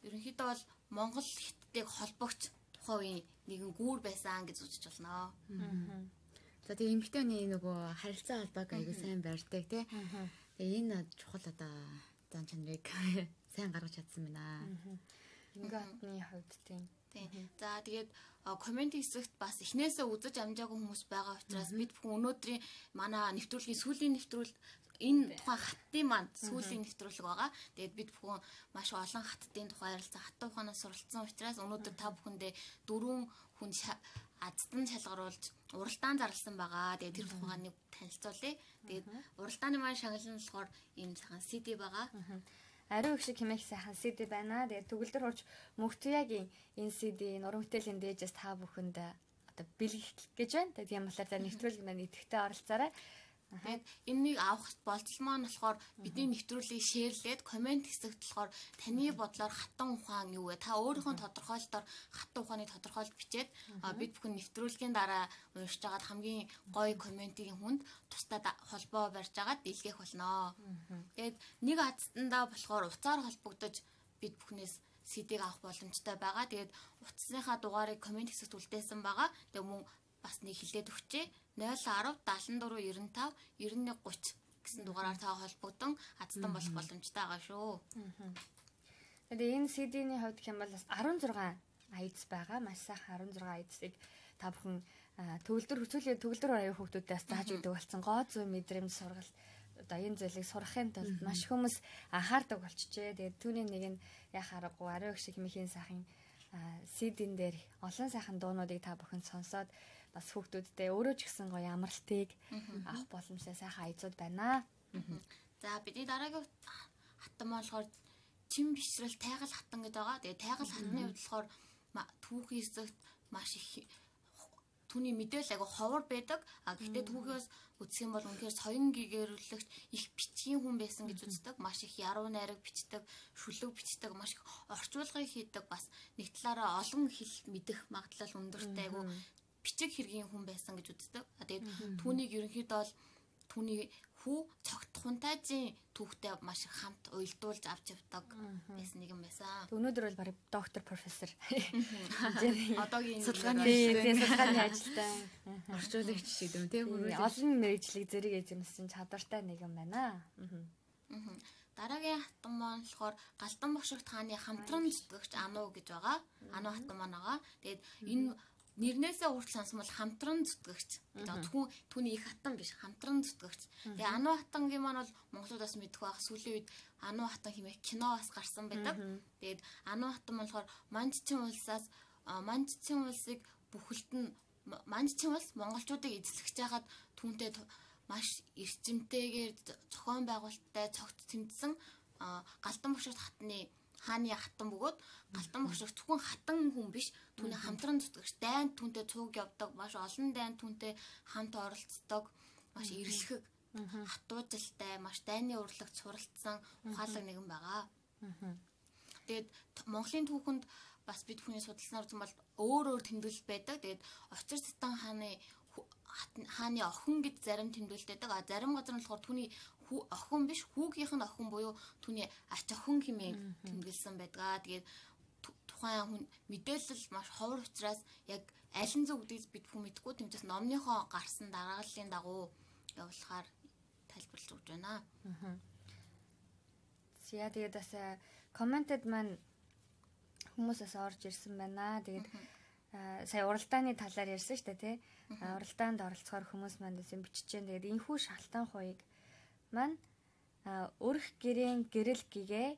ерөнхийдөө бол Монгол Хятадыг холбогч тухайн үеийн нэгэн гүүр байсан гэж үзэж байна. За тэгээ эмэгтэй хүний нөгөө харилцаа холбоог аягүй сайн барьдаг тий. Тэгээ энэ чухал одоо зан чанарыг сайн гаргаж чадсан байна. Юнгийн хатны хувьд тийм. За тэгээд комент хэсэгт бас эхнээсээ үзэж амжаагүй хүмүүс байгаа учраас бид бүхэн өнөөдрийн манай нэвтрүүлгийн сүүлийн нэвтрүүлэлт энэ тухайн хаттын маань сүүлийн нэвтрүүлэг байгаа. Тэгээд бид бүхэн маш олон хаттын тухай ярилцсан, хаттай ухаанаас суралцсан учраас өнөөдөр та бүхэндээ дөрвөн хүн аздан шалгаруулж уралдаан зарласан байгаа. Тэгээд тэр тухайг нэг танилцуулъя. Тэгээд уралдааны маань шагналын болохоор энэ сайхан си ди байгаа. Ариу их шиг хэмээх сайхан си ди байна. Тэгээд төгөлдөр хурж Мөнхтүягийн энэ си ди нуран бүтээлийн дээжээс та бүхэнд одоо бэлгэх гэж байна. Тэгээд тийм болохоор нэвтрүүлэг маань идэвхтэй оролцоорой. Тэгээд энэнийг авах болцол маань болохоор бидний нэвтрүүлгийг шеэрлээд комент хэсэгт болохоор таны бодлоор хатан ухаан юу вэ? Та өөрийнхөө тодорхойлолтоор хатан ухааны тодорхойлолт бичээд бид бүхэн нэвтрүүлгийн дараа уншиж агаад хамгийн гоё комментийн хүнд тусдаа холбоо барьж агаад дэлгэх болно. Тэгээд нэг азтандаа болохоор уцаар холбогдож бид бүхнээс си ди-г авах боломжтой байгаа. Тэгээд утасныхаа дугаарыг комент хэсэгт үлдээсэн байгаа. Тэгээд мөн бас нэг хилээд өгчээ. ноль one зero seven four nine five nine one thirty гэсэн дугаараар та холбогдсон азтан болох боломжтой байгаа шүү. Тэгээд энэ си ди-ний хувьд хэм бол бас sixteen айдас байгаа. Маш сайхан sixteen айдасыг та бүхэн төгөлдөр хүсүүлээ төгөлдөр аяа хүүхдүүдээс зааж өгдөг болсон. Гоо зүй мэдрэмж сургал одоо энэ зүйлийг сурахын тулд маш хүмүүс анхаардаг болчихжээ. Тэгээд түүний нэг нь яхаарахгүй ариу их шиг хэмэхийн сайхан си ди-н дээр олон сайхан дуунуудыг та бүхэн сонсоод бас хүүхдүүдтэй өөрөө ч гэсэн гоё амралтыг авах боломжтой сайхан айцууд байна. За бидний дараагийн хатан болохоор чин бишрэл тайгал хатан гэдэг байгаа. Тэгээ тайгал хатны хувьд болохоор түүхийн хэсэгт маш их түүний мэдээлэл агай ховор байдаг. А гэхдээ түүхээс үзэх юм бол үнэхээр соён гэгэрүүлэгч их бичгийн хүн байсан гэж үздэг. Маш их яруу найраг бичдэг, шүлэг бичдэг, маш их орчуулгыг хийдэг. Бас нэг талаараа олон хэл мэдэх магадлал өндөртэй айгу бичиг хэргийн хүн байсан гэж үздэг. Тэгээд түүнийг ерөнхийдөө бол түүний хүү цогт хунтайжийн түүхтэй маш их хамт уялдуулж авч явдаг байсан нэгэн байсан. Өнөөдөр бол барыг доктор профессор одоогийн судалгааны судалгааны ажилтай орчуулагч шиг юм тийм хөрвөл олон мэргэжлийг зэрэг эзэмсэн чадвартай нэгэн байна. Дараагийн хатан маань болохоор Галдан бошигт хааны хамтран зүтгэгч Ануу гэж байгаа. Ануу хатан маань байгаа. Тэгээд энэ нэрнээсээ урт сонсон бол хамтран зүтгэгч. Зөвхөн түүний их хатан биш, хамтран зүтгэгч. Тэгээ Ануу хатангийн маань бол монголуудаас мэдэх байх. Сүүлийн үед Ануу хатан хэмээх кино бас гарсан байдаг. Тэгээд Ануу хатан маань болохоор Манччин улсаас Манччин улсыг бүхэлд нь Манччин улс монголчуудыг эзлэж байгаад түүнтэй маш эрчимтэйгээр зохион байгуулалттай цогт тэмцсэн Галдан бошигт хатны хааны хатан бөгөөд Галдан бошигт зөвхөн хатан хүн биш, түүний хамтран зүтгэгч, дайнд түүнтэй цуг явдаг, маш олон дайнд түүнтэй хамт оролцдог, маш эрлэхэг, хатуужилтай, маш дайны урлагт суралцсан ухаалаг нэгэн байгаа. Тэгээд Монголын түүхэнд бас бид хүний судалснаар үзсэн бол өөр өөр тэмдэглэл байдаг. Тэгээд Очир Сатан хааны хааны охин гэж зарим тэмдэглэлтэй байдаг. А зарим газар нь болохоор түүний охин биш, хүүгийнх нь охин буюу түүний ач охин хэмээн тэмдэглэсэн байдаг. Тэгээд тухайн хүн мэдээлэл маш ховор учраас яг аль нь зөв гэдгийг бид хүн мэдэхгүй. Тэмцээс номныхоо гарсан дараагаллын дагуу явуулахаар тайлбарлаж өгч байна. Аа. За тэгээд бас комментэд маань хүмүүсээс орж ирсэн байна. Тэгээд сая уралдааны талаар ярьсан шүү дээ, тий. Уралдаанд оролцохоор хүмүүс маань юм бичиж जैन. Тэгээд энэхүү шалтгаан хуйг маань өрх гэрийн гэрэл гэгээ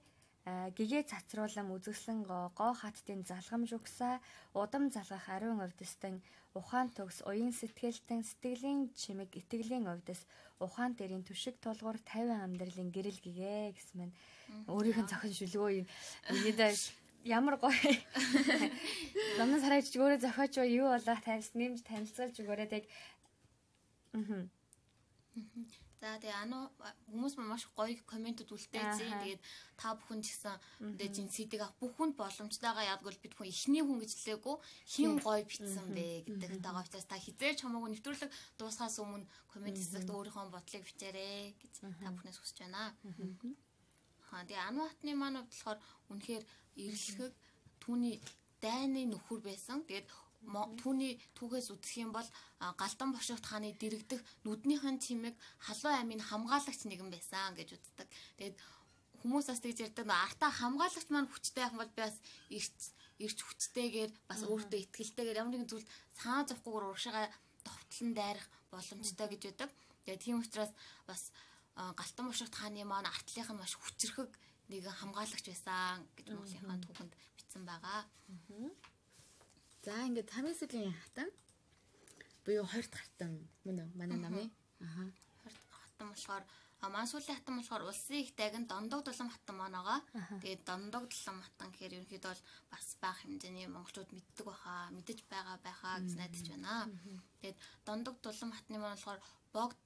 гэгээ цацруулам үзэсгэлэн гоо гоо хаттын залгамж өгсаа удам залгах ариун овдстан ухаан төгс уян сэтгэлтэн сэтгэлийн чимэг итгэлийн овдс ухаан дэрийн түшиг тулгуур тавин амьдралын гэрэл гэгээ гэсэн мэн өөрийнх нь зохион шүлгөө юм. Ингээд ямар гоё. Намнаас хараач өөрөө зохиоч юу болоо таньс нэмж танилцуулж өгөөрэй тэг. Аа. За тэгээ ано хүмүүс маш гоё комментууд үлдээсэн. Тэгээд та бүхэн ч гэсэн тэгээд энэ сэдийг авах бүх хүнд боломжтойгоо яг бол бид хүн ихний хүн гэж хэлээгүй хин гоё битсэн бэ гэдэг тагаа учраас та хизээч хамаагүй нэвтрүүлэг дуусахаас өмнө коммент хэсэгт өөрийнхөө бодлыг бичээрэй гэж та бүхнээс хүсэж байна. Аа тэгээ ано хатны маань болохоор үнэхээр эргэлхэг түүний дайны нөхөр байсан. Тэгээд түүний түүхээс үзэх юм бол Галдан бошигт хааны дэрэгдэх нүднийхэн чимэг халуун аймын хамгаалагч нэгэн байсан гэж үздэг. Тэгээд хүмүүс бас тэгж ярьдаг нөө артаа хамгаалагч маань хүчтэй байх бол би бас ирч ирч хүчтэйгээр бас өөртөө ихтгэлтэйгээр ямар нэгэн зүйл цаа зовхгүйгээр урагшаага товтлон дайрах боломжтой гэж байдаг. Тэгээд тийм учраас бас Галдан бошигт хааны маань артлынх нь маш хүчрхэг нэгэн хамгаалагч байсан гэж Монголынхаа түүхэнд бичсэн байгаа. За ингээд хамгийн сүүлийн хатан буюу хоёр дахь хатан мөн үү манай намын аа хоёр дахь хатан болохоор маань сүүлийн хатан болохоор улсын их дайган Дондог дулам хатан маань байгаа. Тэгээд Дондог дулам хатан гэхээр ерөнхийдөө бол бас бага хэмжээний монголчууд мэддэг байхаа мэдэж байгаа байхаа гэж найдаж байна. Тэгээд Дондог дулам хатны маань болохоор Богд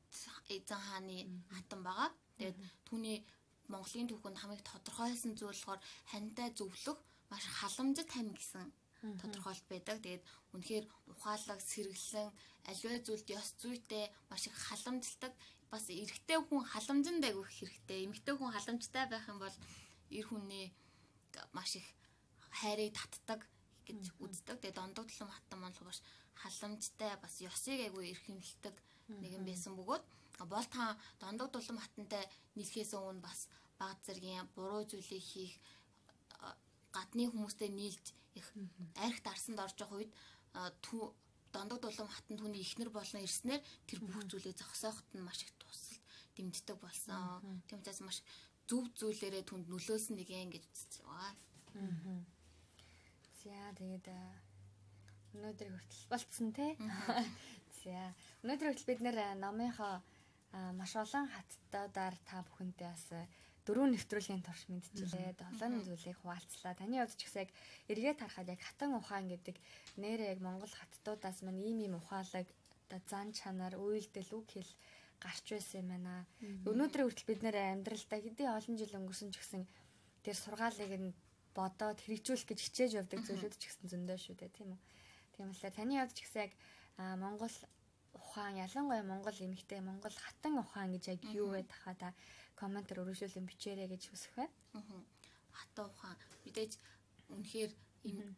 эзэн хааны хатан байгаа. Тэгээд түүний Монголын түүхэнд хамгийн тодорхойлсон зүйл болохоор хантай зөвлөх маш халамжит хань гэсэн тодорхойлт байдаг. Тэгээд үнэхээр ухаалаг сэргэлэн аливаа зүйлд ёс зүйтэй маш их халамжилдаг. Бас эрэгтэй хүн халамжинд айгүйх хэрэгтэй. Эмэгтэй хүн халамжтай байх юм бол эр хүний маш их хайрыг татдаг гэж үздэг. Тэгээд Дондог дулам хатан маань бас халамжтай бас ёсыг айгүй эрхэмлдэг нэгэн байсан бөгөөд бол та Дондог дулам хатантай нийлхээс өмнө бас баг зэргийн буруу зүйлийг хийх гадны хүмүүстэй нийлж их арх дарсанд орж явах үед Дондог дулам хатан түүний ихнэр болно ирснээр тэр бүх зүйлийг зогсоохот нь маш их тусалд дэмждэг болсон. Тийм учраас маш зөв зүйлээрээ түнд нөлөөсөн нэг юм гэж үзэж байгаа. За тэгээд өнөөдөр хүртэл болцсон тий. За өнөөдөр хүртэл бид нэр номынхоо маш олон хаттуудаар та бүхэнтэй бас дөрөв нэвтрүүлгийн турш мэдчихлээ. Олон зүйлийг хуваалцлаа. Таны хувьд ч гэсэн яг эргээд харахад яг хатан ухаан гэдэг нэрээ яг Монгол хаттуудаас мань ийм ийм ухаалаг, зан чанар, үйлдэл, үг хэл гарч байсан юм байна. Өнөөдрийн хүртэл бид нэр амьдралдаа хэдий олон жил өнгөрсөн ч гэсэн тэр сургаалыг нь бодоод хэрэгжүүлэх гэж хичээж явдаг зүйлүүд ч гэсэн зөндөө шүү дээ, тийм үү? Тийм болохоор таны хувьд ч гэсэн яг Монгол ухаан, ялангуяа Монгол эмэгтэй, Монгол хатан ухаан гэж яг юу вэ тахаа та комментээр өргөжүүлэн бичээрэй гэж хүсэх байна. Аа. Хатан ухаан мэдээж үнэхээр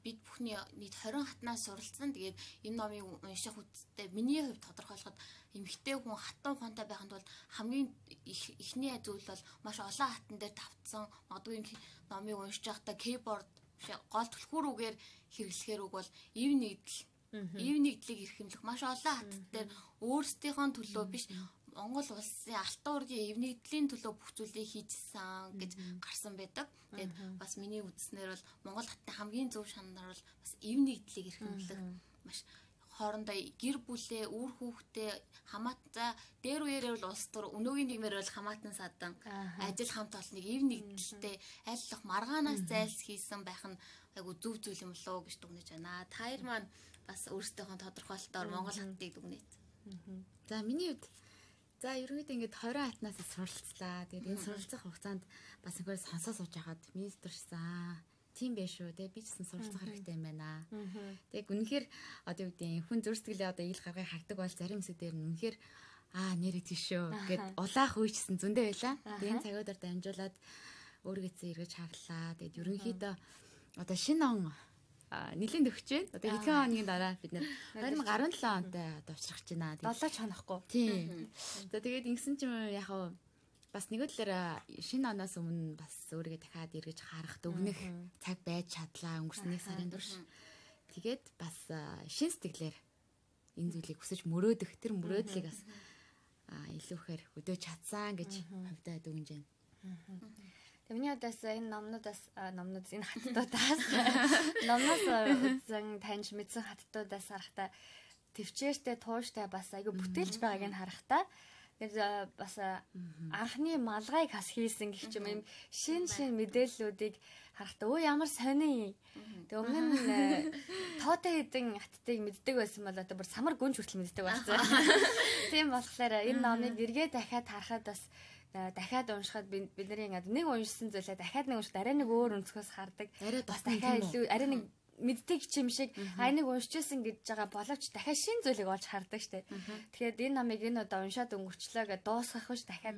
бид бүхний нийт хорин хатнаас суралцсан. Тэгээд энэ номыг унших үедээ миний хувьд тодорхойлоход эмэгтэй хүн хатан ухаантай байханд бол хамгийн ихний зүйл бол маш олон хатан дээр давтсан. Магадгүй номыг уншиж байхдаа keyboard гол түлхүүрүүгээр хэрэглэхээр үг бол ив нэгдэл ив нэгдлийг эрхэмлэх маш олон хатан дээр өөрсдийнхөө төлөө биш Монгол улсын алтан уургийн ив нэгдлийн төлөө бүх зүйлийг хийжсэн гэж гарсан байдаг. Тэгээд бас миний үзснээр бол Монгол хатны хамгийн зөв шанаар бол бас ив нэгдлийг эрхэмлэх маш хоорондоо гэр бүлээ, үр хүүхдээ хамаатан дээр үеэрээ бол улс төр өнөөгийн нийгмээр бол хамаатан садан ажил хамт олныг ив нэгдэлтэй айллах маргаанаас зайлс хийсэн байх нь айгу зөв зүйл юм болоо гэж дүгнэж байна. Та хоёр маань бас өөрсдийнхөө тодорхойлолтоор Монгол хатыг дүгнээд. За миний хувьд за ерөнхийдөө ингээд хорин хатнаас суралцлаа. Тэгээд энэ суралцах хугацаанд бас ингээд сонсоо сууж хагаад министрсэн. тийм байх шүү. Тэгээ би ч гэсэн суралцах хэрэгтэй юм байна. Тэгээ үнэхээр одоо юу гэдэг хүн зүрсгэлээ одоо ил гаргыг хардаг бол зарим хэсэг дээр нь үнэхээр аа нэрээ тийшөө гэд улаах үечсэн зөндөө байла. Тэгээ энэ цагуудаар дамжуулаад өөрийгөө эргэж харлаа. Тэгээд ерөнхийдөө одоо шинэ он нэлийн төгч байна. Одоо хэдхэн хоногийн дараа бид нэр две тысячи десет онтой одоо уучрах гэж байна. долоо ч хонохгүй. Тийм. За тэгээд ингэсэн чинь яг хав бас нэг үдлээр шинэ оноос өмнө бас өөрийгөө дахиад эргэж харах дүгнэх цаг байж чадлаа өнгөрсөн нэг сарын турш. Тэгээд бас шин сэтгэлээр энэ зүйлийг хүсэж мөрөөдөх тэр мөрөөдлийг бас илүүхээр өдөөж чадсан гэж хувьдаа дүгнэж байна. Миний удаас энэ номнуудаас номнууд энэ хаттуудаас номноос үзэн таньж мэдсэн хаттуудаас харахтаа төвчээртэй тууштай бас айгүй бүтээлч байгааг нь харахтаа тэгээд бас анхны малгайг хас хийсэн гэх юм шин шин мэдээллүүдийг харахтаа өө ямар сони. Тэг өмнө нь тоотой хэдэн хаттыг мэддэг байсан бол одоо бүр самар гүнж хүртэл мэддэг болсон. Тийм болохоор энэ номыг эргээ дахиад харахад бас дахиад уншихад бид бидний ингээд нэг уншсан зүйлээ дахиад нэг уншихад арай нэг өөр өнцгөөс хардаг. Бас дахиад илүү арай нэг мэддэг юм шиг аа нэг уншижсэн гэж байгаа боловч дахиад шин зүйлийг олж хардаг штэ. Тэгэхээр энэ номыг энэ удаа уншаад өнгөрчлөө гэж дуусгах биш дахиад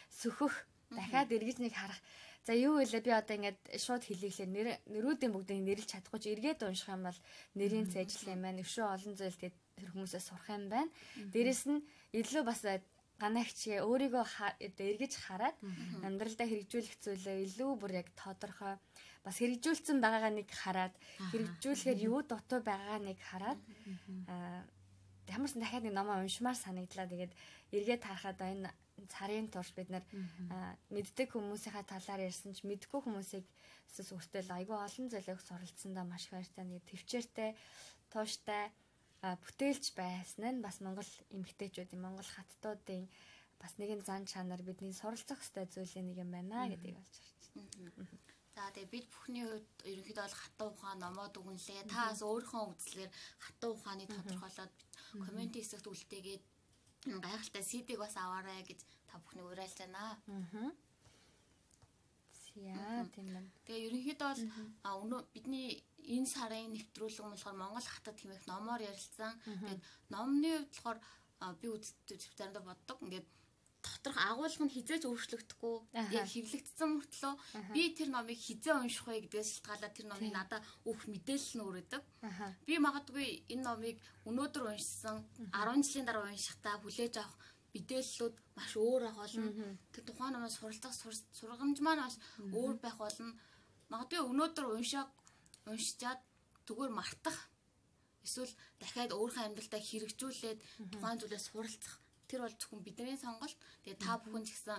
сөхөх дахиад эргэж нэг харах. За юу вэ би одоо ингээд шууд хэлийхлээр нэр нэрүүдийн бүгдийг нэрлж чадахгүй ч эргээд унших юм бол нэрийн цэжил юм байна. Өшөө олон зүйл тэгээд тэр хүмүүсээс сурах юм байна. Дээрэс нь илүү бас ганагчгээ өөрийгөө эргэж хараад амьдралдаа хэрэгжүүлэх зүйлээ илүү бүр яг тодорхой бас хэрэгжүүлсэн байгаагаа нэг хараад хэрэгжүүлэхээр юу дутуу байгаагаа нэг хараад ямарсан дахиад нэг номоо уншмаар санагдлаа. Тэгээд эргээд харахад энэ царын турш бид нар мэддэг хүмүүсийнхаа талаар ярьсан ч мэдгүй хүмүүсийг сүртэл айгүй олон зүйлийг суралцсандаа маш их баяртай. Нэг төвчээртэй тууштай бүтээлч байсан нь бас Монгол эмэгтэйчүүдийн Монгол хаттуудын бас нэгэн зан чанар бидний суралцах ёстой зүйлийн нэг юм байна гэдгийг олж харж байна. За тэгээ бид бүхний хувьд ерөнхийдөө бол хатан ухаан номоо дүгнэлээ. Та бас өөрийнхөө үзлээр хатан ухааныг тодорхойлоод коммент хэсэгт үлдээгээд гайхалтай сидийг бас аваарай гэж та бүхний уриалж байна. Аа. Яа тийм байна. Тэгээ ерөнхийдөө бол өнөө бидний энэ сарын нэвтрүүлэг болохоор Монгол хатад хэмээх номоор ярилцсан. Тэгээд номны хувьд болохоор би үздэг заримдаа боддог. Ингээд доторх агуулга нь хизээж өөрчлөгдөхгүй. Яг хэвлэгдсэн мөртлөө би тэр номыг хизээ унших вэ гэдгээс шалтгаалаад тэр номыг надад өөх мэдээлэл нь өрөөдөг. Би магадгүй энэ номыг өнөөдөр уншсан арван жилийн дараа уншихтаа хүлээж авах мэдээллүүд маш өөр ах болно. Тэр тухайн номоос суралцах сургамж маань бас өөр байх болно. Магадгүй өнөөдөр уншааг уншичаад зүгээр мартах эсвэл дахиад өөрийнхөө амьдралдаа хэрэгжүүлээд тухайн зүйлээс суралцах тэр бол зөвхөн бидний сонголт. Тэгээ та бүхэн ч гэсэн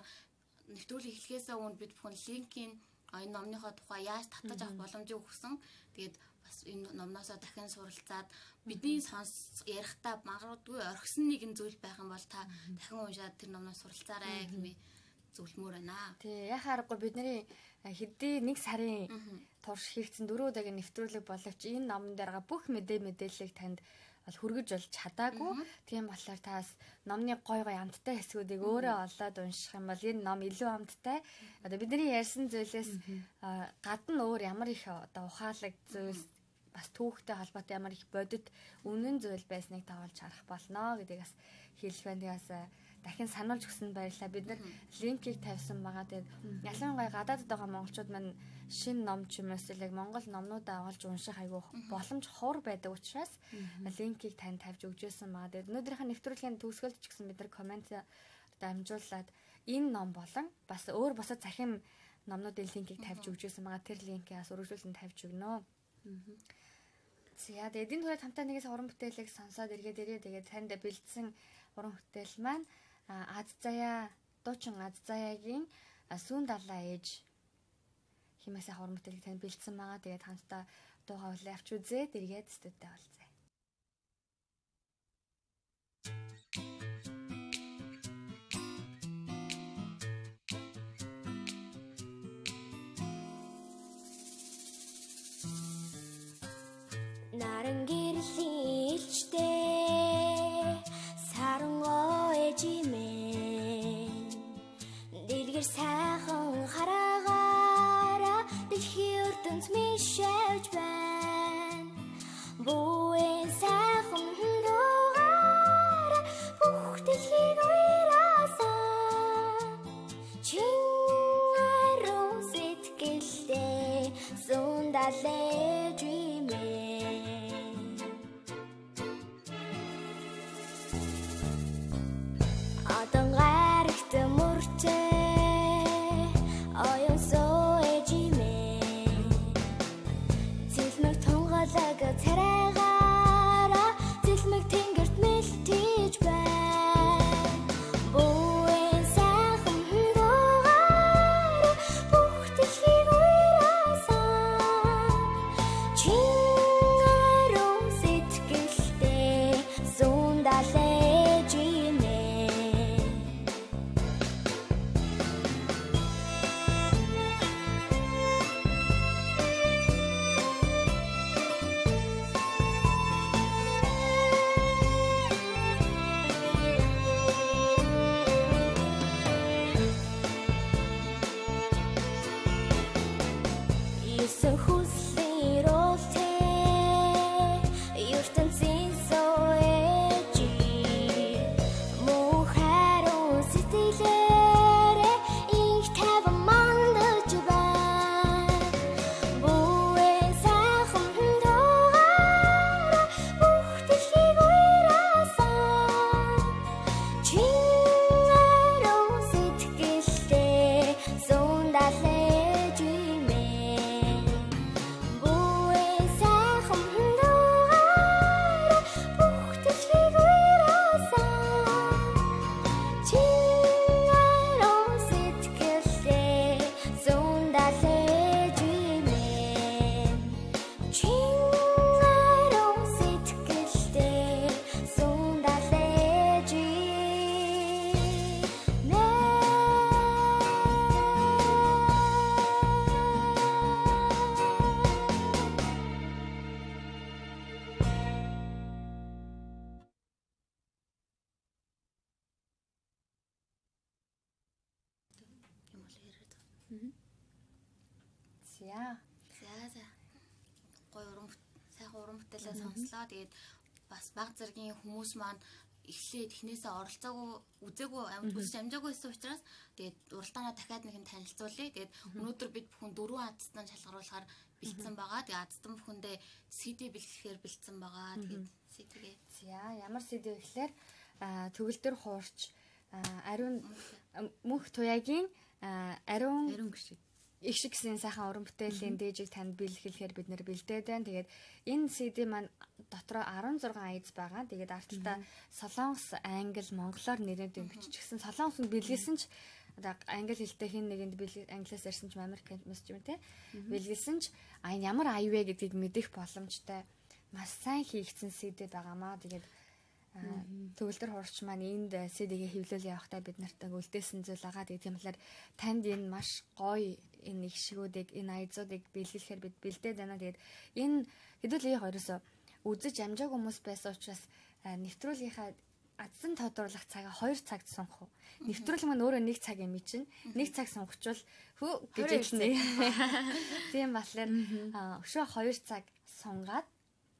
нэвтрүүлэг эхлэхээс өмнө бид бүхэн линкийн энэ номныхоо тухай яаж татаж авах боломжийг өгсөн. Тэгээд бас энэ номноосоо дахин суралцаад бидний сонс ярихдаа магадгүй орхисон нэгэн зүйл байх юм бол та дахин уншаад тэр номноос суралцаарай гэмээ зөвлөмөр байна. Тий, яхаарахгүй бидний хэдий нэг сарын турш хийгдсэн дөрөв удаагийн нэвтрүүлэг боловч энэ номон дээр байгаа бүх мэдээ мэдээллийг танд бол хүргэж болж чадаагүй. Тийм болохоор та бас номны гой гой амттай хэсгүүдийг өөрөө олоод унших юм бол энэ ном илүү амттай. Одоо бидний ярьсан зүйлээс гадна өөр ямар их одоо ухаалаг зүйл бас түүхтэй холбоотой ямар их бодит үнэн зүйл байсныг тавуулж харах болно гэдгийг бас хэлэх байна. Тэгээс дахин сануулж өгсөнд баярлалаа. Бид нар линкийг тавьсан байгаа. Тэгээд ялангуяа гадаадд байгаа монголчууд маань шинэ ном ч юм уу яг монгол номнуудаа олж унших айгүй боломж ховор байдаг учраас линкийг тань тавьж өгчээсэн байгаа. Тэгээд өнөөдрийнхээ нэвтрүүлгийн төгсгөлд ч гэсэн бид нар коммент дамжуулаад энэ ном болон бас өөр босод захим номнуудын линкийг тавьж өгчээсэн байгаа. Тэр линкийг бас өргөжүүлэн тавьж өгнө. За тэгээд энэ түрээд хамтаа нэгээс уран бүтээлийг сонсоод эргээд ирээ. Тэгээд танд бэлдсэн уран бүтээл маань Аз заяа дуучин Аз заяагийн Сүүн далаа ээж хэмээс уран бүтээлийг танд бэлдсэн байгаа. Тэгээд хамтаа дуугаа үлээ авч үзээд эргээд студид олзээ. 나른 길을 일치대 사랑어 애지맨 딜길 사랑 하라가라 딜히 ертөнц миш За. За за. Гой уран сайхан уран бүтээлээ сонслоо. Тэгээд бас баг зэргийн хүмүүс маань эхлээд эхнээсээ оролцоогүй үзээгүй үзэж амжаагүй байсан учраас тэгээд уралдаанаа дахиад нэг нь танилцуулъя. Тэгээд өнөөдөр бид бүхэн дөрвөн азтан шалгаруулахаар бэлдсэн байгаа. Тэгээд азтан бүхэндээ си ди бэлтгэхээр бэлдсэн байгаа. Тэгээд си ди-гээ. За ямар си ди вэ гэхээр төгөлдөр хуурч ариун мөнх туяагийн ариун ариун гişиг их шиг гэсэн сайхан уран бүтээлийн дээжийг танд бэлгэлэхээр бид нэр бэлдээд байна. Тэгээд энэ си ди маань дотроо арван зургаан айц байгаа. Тэгээд арталтаа Солонгос, Англи, Монголоор нэрээд биччихсэн. Солонгосд бэлгэлсэн ч одоо англи хэлтэй хин нэгэнд бэлэг англиас ярьсан ч Америк мессеж юм те. Бэлгэлсэн ч а ямар ая вэ гэдгийг мэдэх боломжтой. Маш сайн хийгдсэн си ди байгаамаа. Тэгээд төгөлдөр хуурч маань энд си ди-гээ хэвлүүл явахдаа бид нартай үлдээсэн зүйл байгаа. Тэгээд тийм болохоор танд энэ маш гоё энэ их шигүүдийг энэ айзуудыг бэлгэлэхээр бид бэлдээд байна. Тэгээд энэ хэдүүлээ хоёросоо үзэж амжааг хүмүүс байсан учраас нэвтрүүлгийнхаа адсан тодруулах цагаа хоёр цагт сонгох уу. Нэвтрүүлэг маань өөрөө нэг цаг юм чинь. Нэг цаг сонгочвол хөө гэж хэлнэ. Тийм болохоор өшөө хоёр цаг сунгаад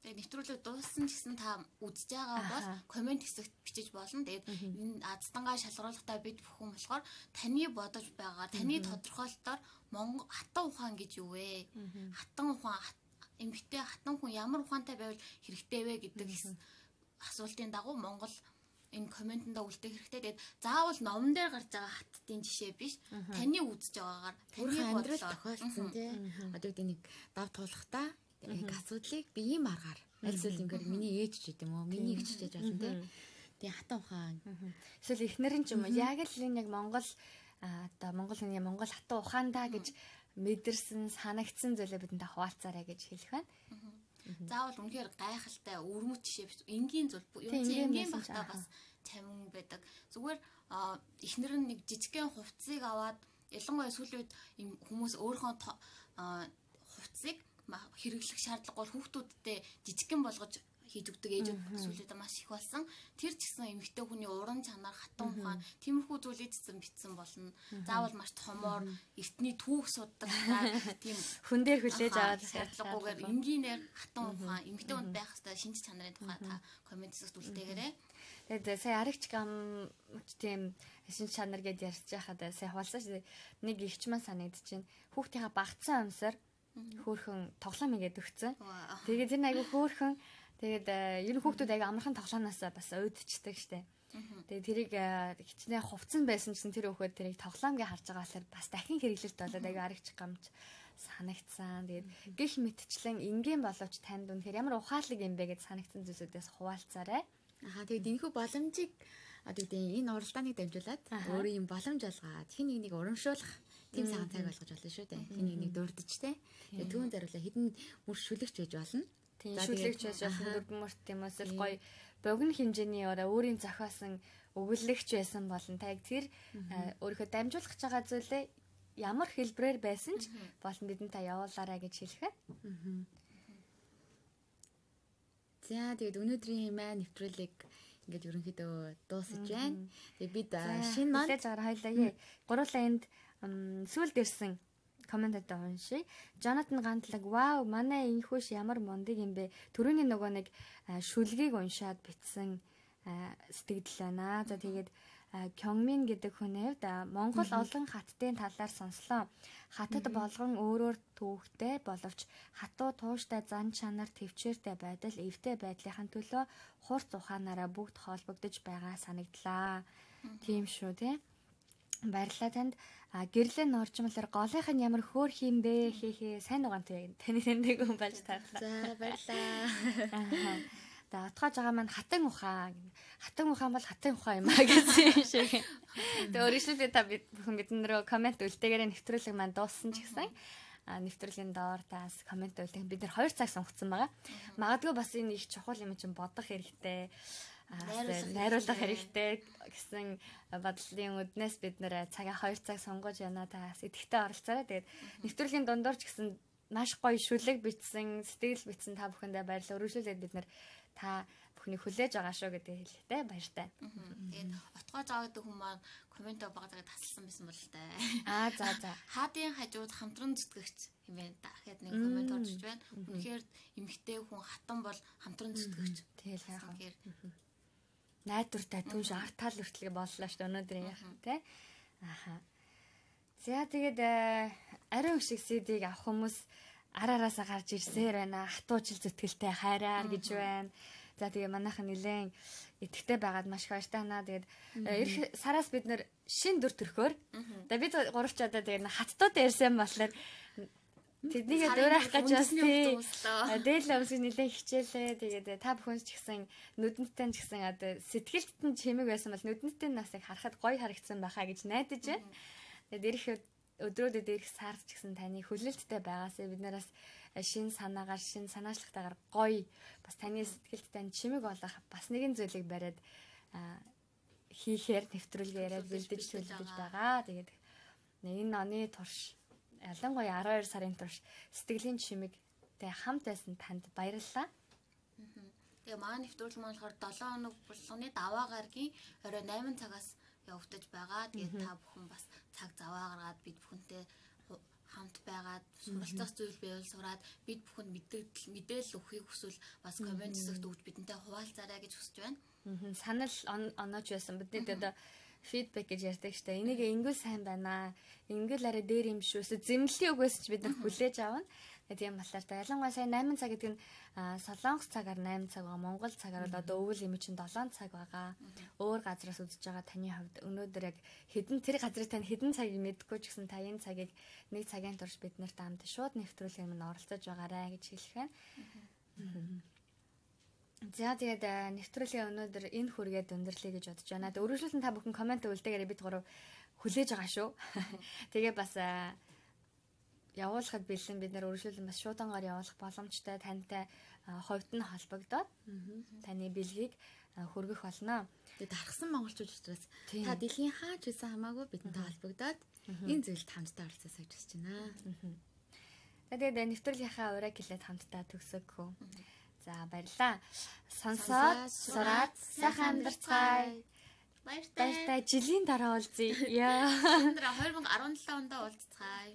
тэгээд нэвтрүүлэг дууссан ч гэсэн та үзэж байгаа бол комент хэсэгт бичиж болно. Тэгээд энэ аздангаа шалгаруулахдаа бид бүхэн болохоор таны бодож байгаа, таны тодорхойлолтоор Монгол хатан ухаан гэж юу вэ? Хатан ухаан эмгтэй хатан хүн ямар ухаантай байвал хэрэгтэй вэ гэдэг асуултын дагуу Монгол энэ комментонд үлдээх хэрэгтэй. Тэгээд заавал номон дээр гарч байгаа хаттын жишээ биш. Таны үзэж байгаагаар таны амьдрал тохиолдсон тий. Одоо гэдэг нэг дав туулахтаа яг асуудлыг би ийм аргаар аль зүйл ингээд миний ээж ч гэдэм үү, миний эгч ч гэж болно тий. Тэгээ хатан ухаан. Эсвэл эхнэрэн ч юм уу яг л энэ яг Монгол одоо Монгол хүний Монгол хатан ухаандаа гэж мэдэрсэн, санагдсан зүйлээ бидэнд хаваалцаарай гэж хэлэх байна. Заавал үнэхээр гайхалтай өрмөц жишээ биш. Энгийн зүйл юу ч энгийн багтаа бас цамин байдаг. Зүгээр эхнэр нь нэг жижигхэн хувцсыг аваад ялангуяа сүүлийн үед хүмүүс өөрийнхөө хувцсыг хэрэглэх шаардлагагүй хүүхдүүдтэй жижигхэн болгож хийж өгдөг ээжүүд сүүлийн үед маш их болсон. Тэр ч гэсэн эмэгтэй хүний уран чанар, хатан ухаан, тиймэрхүү зүйлийг цэцэн битсэн болно. Заавал маш томоор эртний түүх суддаг тийм хүн дээр хүлээж аваад шаардлагагүйгээр энгийнээр хатан ухаан, эмэгтэй хүнд байх хэвээр шинж чанарын тухай та комент хэсэгт үлдээгээрэй. Тэгээд сая аригч гам тийм шинж чанар гэдээ ярьж байхад сая хавалсан шүү. Нэг ихч маань санагдчихэв. Хүүхдийнхаа багцсан өмсөр Хөөхөн тоглоом ингээд өгцөн. Тэгээд тэр айгүй хөөхөн тэгээд ер нь хүүхдүүд айгүй амархан тоглоомноос бас уйдчихдаг штэ. Тэгээд тэрийг хичнээн хувцсан байсан гэсэн тэр хүүхэд тэрийг тоглоомгийн харж байгаа болохоор бас дахин хэрэглэлт болоод айгүй аргачих гамч санагдсан. Тэгээд гих мэтчлэн энгийн боловч танд үнэхээр ямар ухаалаг юм бэ гэж санагдсан зүйлсүүдээс хуваалцаарай. Аха тэгээд энэхүү боломжийг одоо гэдэг энэ уралдааныг дамжуулаад өөрийн юм боломж олгоод хин нэг нэг урамшуулах тийм цагаан цаг болгож болно шүү дээ. Хин нэг нэг дурдж те. Тэгээд түүн зариулаа хідэн мөр шүлэгч байж болно. Тийм шүлэгч байж болно. Дургмөрт юм эсвэл гоё богино хэмжээний ороо өөрийн зохиосон өгүүлэгч байсан болно. Та яг тэр өөрийнхөө дамжуулах гэж байгаа зүйлээ ямар хэлбэрээр байсан ч болон бидэнд та явуулаарай гэж хэлэх. За тэгээд өнөөдрийн маань нэвтрүүлэг ингээд ерөнхийдөө дуусаж байна. Тэгээд бид шинэ маань хэлж байгаа хоёлаа гурлаа энд сүүлд ирсэн комментод уншия. Jonathan гантлаг вау манай энхүүш ямар мундаг юм бэ. Төрөний нөгөө нэг шүлгийг уншаад битсэн сэтгэл байна. За тэгээд Кёнгмин гэдэг хүний хувьд Монгол олон хаттын талаар сонслоо. Хатад болгон өөрөөр төвхтэй боловч хатуу тууштай зан чанар төвчээртэй байдал эвтэй байдлынхаа төлөө хурц ухаанаараа бүгд холбогдож байгаа санагдлаа. Тийм шүү тий. Баярлалаа танд. Гэрлэн орчмолоор голынх нь ямар хөөх юм бэ хээ хээ сайн угаантай таны тэндэг хүн болж таарлаа. За баярлалаа. За отгоож байгаа маань хатан ухаан. Хатан ухаан бол хатан ухаан юм аа гэсэн шиг. Тэгээ өөрөөр та бид бүхэн биднэрөө комент үлдээгээрээ нэвтрүүлэг маань дууссан ч гэсэн нэвтрүүлгийн доор таас комент үлдээх бид нэр хоёр цаг сонгоцсон байгаа. Магадгүй бас энэ их чухал юм чинь бодох хэрэгтэй. Найруулах хэрэгтэй гэсэн бодлын үднээс бид нэр цагаа хоёр цаг сонгож байна та сэтгэлтэй оролцоорой. Тэгээд нэвтрүүлгийн дундуур ч гэсэн маш гоё шүлэг бичсэн, сэтгэл бичсэн та бүхэндээ баярлалаа. Өргөжлүүлээд бид нэр та бүхнийг хүлээж байгаа шүү гэдэг хэлэхтэй баяртай. Тэгээд отгоож аваад хүмүүс маань комментоо багтаагаад тасалсан байсан бол таа. Аа за за. Хаадын хажууд хамтран зүтгэгч юм байна. Дахиад нэг коммент орж иж байна. Үнэхээр эмэгтэй хүн хатан бол хамтран зүтгэгч. Тэгэл яах вэ? Найдвартай түнш арт тал хүртэл боллоо шүү өнөөдрийн яах тий. Аха. За тэгээд ариун шиг сидийг авах хүмүүс араараасаа гарч ирсээр байна. Хатуужил зүтгэлтэй хайраар гэж байна. За тэгээ манайхан нилээн итгэвтэй байгаад маш их баяртай байна. Тэгээд эх сараас бид нэр шин дүр төрхөөр. За бид гуравч одоо тэгээд хаттууд ярьсан болохоор тэднийг дөөрөх гэж бас тий. Дээл өмсөг нилээн хичээлээ. Тэгээд та бүхэн ч гэсэн нүдэнтэй ч гэсэн одоо сэтгэлд нь чимэг байсан бол нүдэнтэй нас яг харахад гоё харагдсан байхаа гэж найдаж байна. Тэгээд ирэх өдрүүдэд ирэх сард ч гэсэн таны хүлээлттэй байгаасаа бид нараас шин санаагаар шин санаачлагтайгаар гоё бас таны сэтгэлд тань чимэг болох бас нэгэн зүйлийг бариад хийхээр нэвтрүүлгээ яриад бэлдэж төлөвлөж байгаа. Тэгээд энэ оны турш ялангуяа арван хоёр сарын турш сэтгэлийн чимэгтэй хамт байсан танд баярлалаа. Тэгээ маань нэвтрүүлэг маань болохоор долоон хоног болгоны даваа гарагийн орой восемь цагаас явагдаж байгаа. Тэгээд та бүхэн бас цаг заваа гаргаад бид бүхэнтэй хамт байгаад суралцах зүйл байвал сураад бид бүхэнд мэдээлэл мэдээлэл өгөхийг хүсвэл бас коммент хэсэгт өгч бидэнтэй хуваалцаарай гэж хүсэж байна. Санал онооч байсан. Бидний одоо фидбек гэж ярьдаг штэ. Энийг ингэл сайн байна. Ингэл арай дээр юм шүү. Зэмлэлийн үгээс ч бид нар хүлээж авна. Тийм болохоор та ялангуяа сая восемь цаг гэдэг нь Солонгос цагаар восемь цаг байгаа. Монгол цагаар бол одоо өвөл юм чинь семь цаг байгаа. Өөр газраас үзэж байгаа таны хувьд өнөөдөр яг хэдэн тэр газрыг тань хэдэн цагийг мэдгүй ч гэсэн та энэ цагийг нэг цагийн турш бид нарт хамт шууд нэвтрүүлгээр минь оролцож байгаарай гэж хэлэх байна. За тэгээд нэвтрүүлгийн өнөөдөр энэ хүргээд өндөрлөе гэж бодож байна. Тэгээд өргөжлөлтөнд та бүхэн комент өгөлтэйгээр бид гурав хүлээж байгаа шүү. Тэгээ бас явуулахад бэлэн бид нэр өргөжлөлөн бас шуудангаар явуулах боломжтой тантай хувьд нь холбогдоод таны бэлгийг хөргөх болно. Тэгээд дархсан монголчууд учраас та дэлхийн хаач байсан хамаагүй бидэнтэй холбогдоод энэ зүйлд хамтдаа оролцоосоо гэж хүсэж байна. Тэгээд нэвтрүүлгийнхаа ураг хэлээд хамтдаа төгсөгхөө. За баярлаа. Сонсоод сураад сайхан амьдарцгаая. Баяртай. Баяртай. Жилийн дараа уулзъя. Яа. Өнөөдөр две тысячи десять онд уулзцгаая.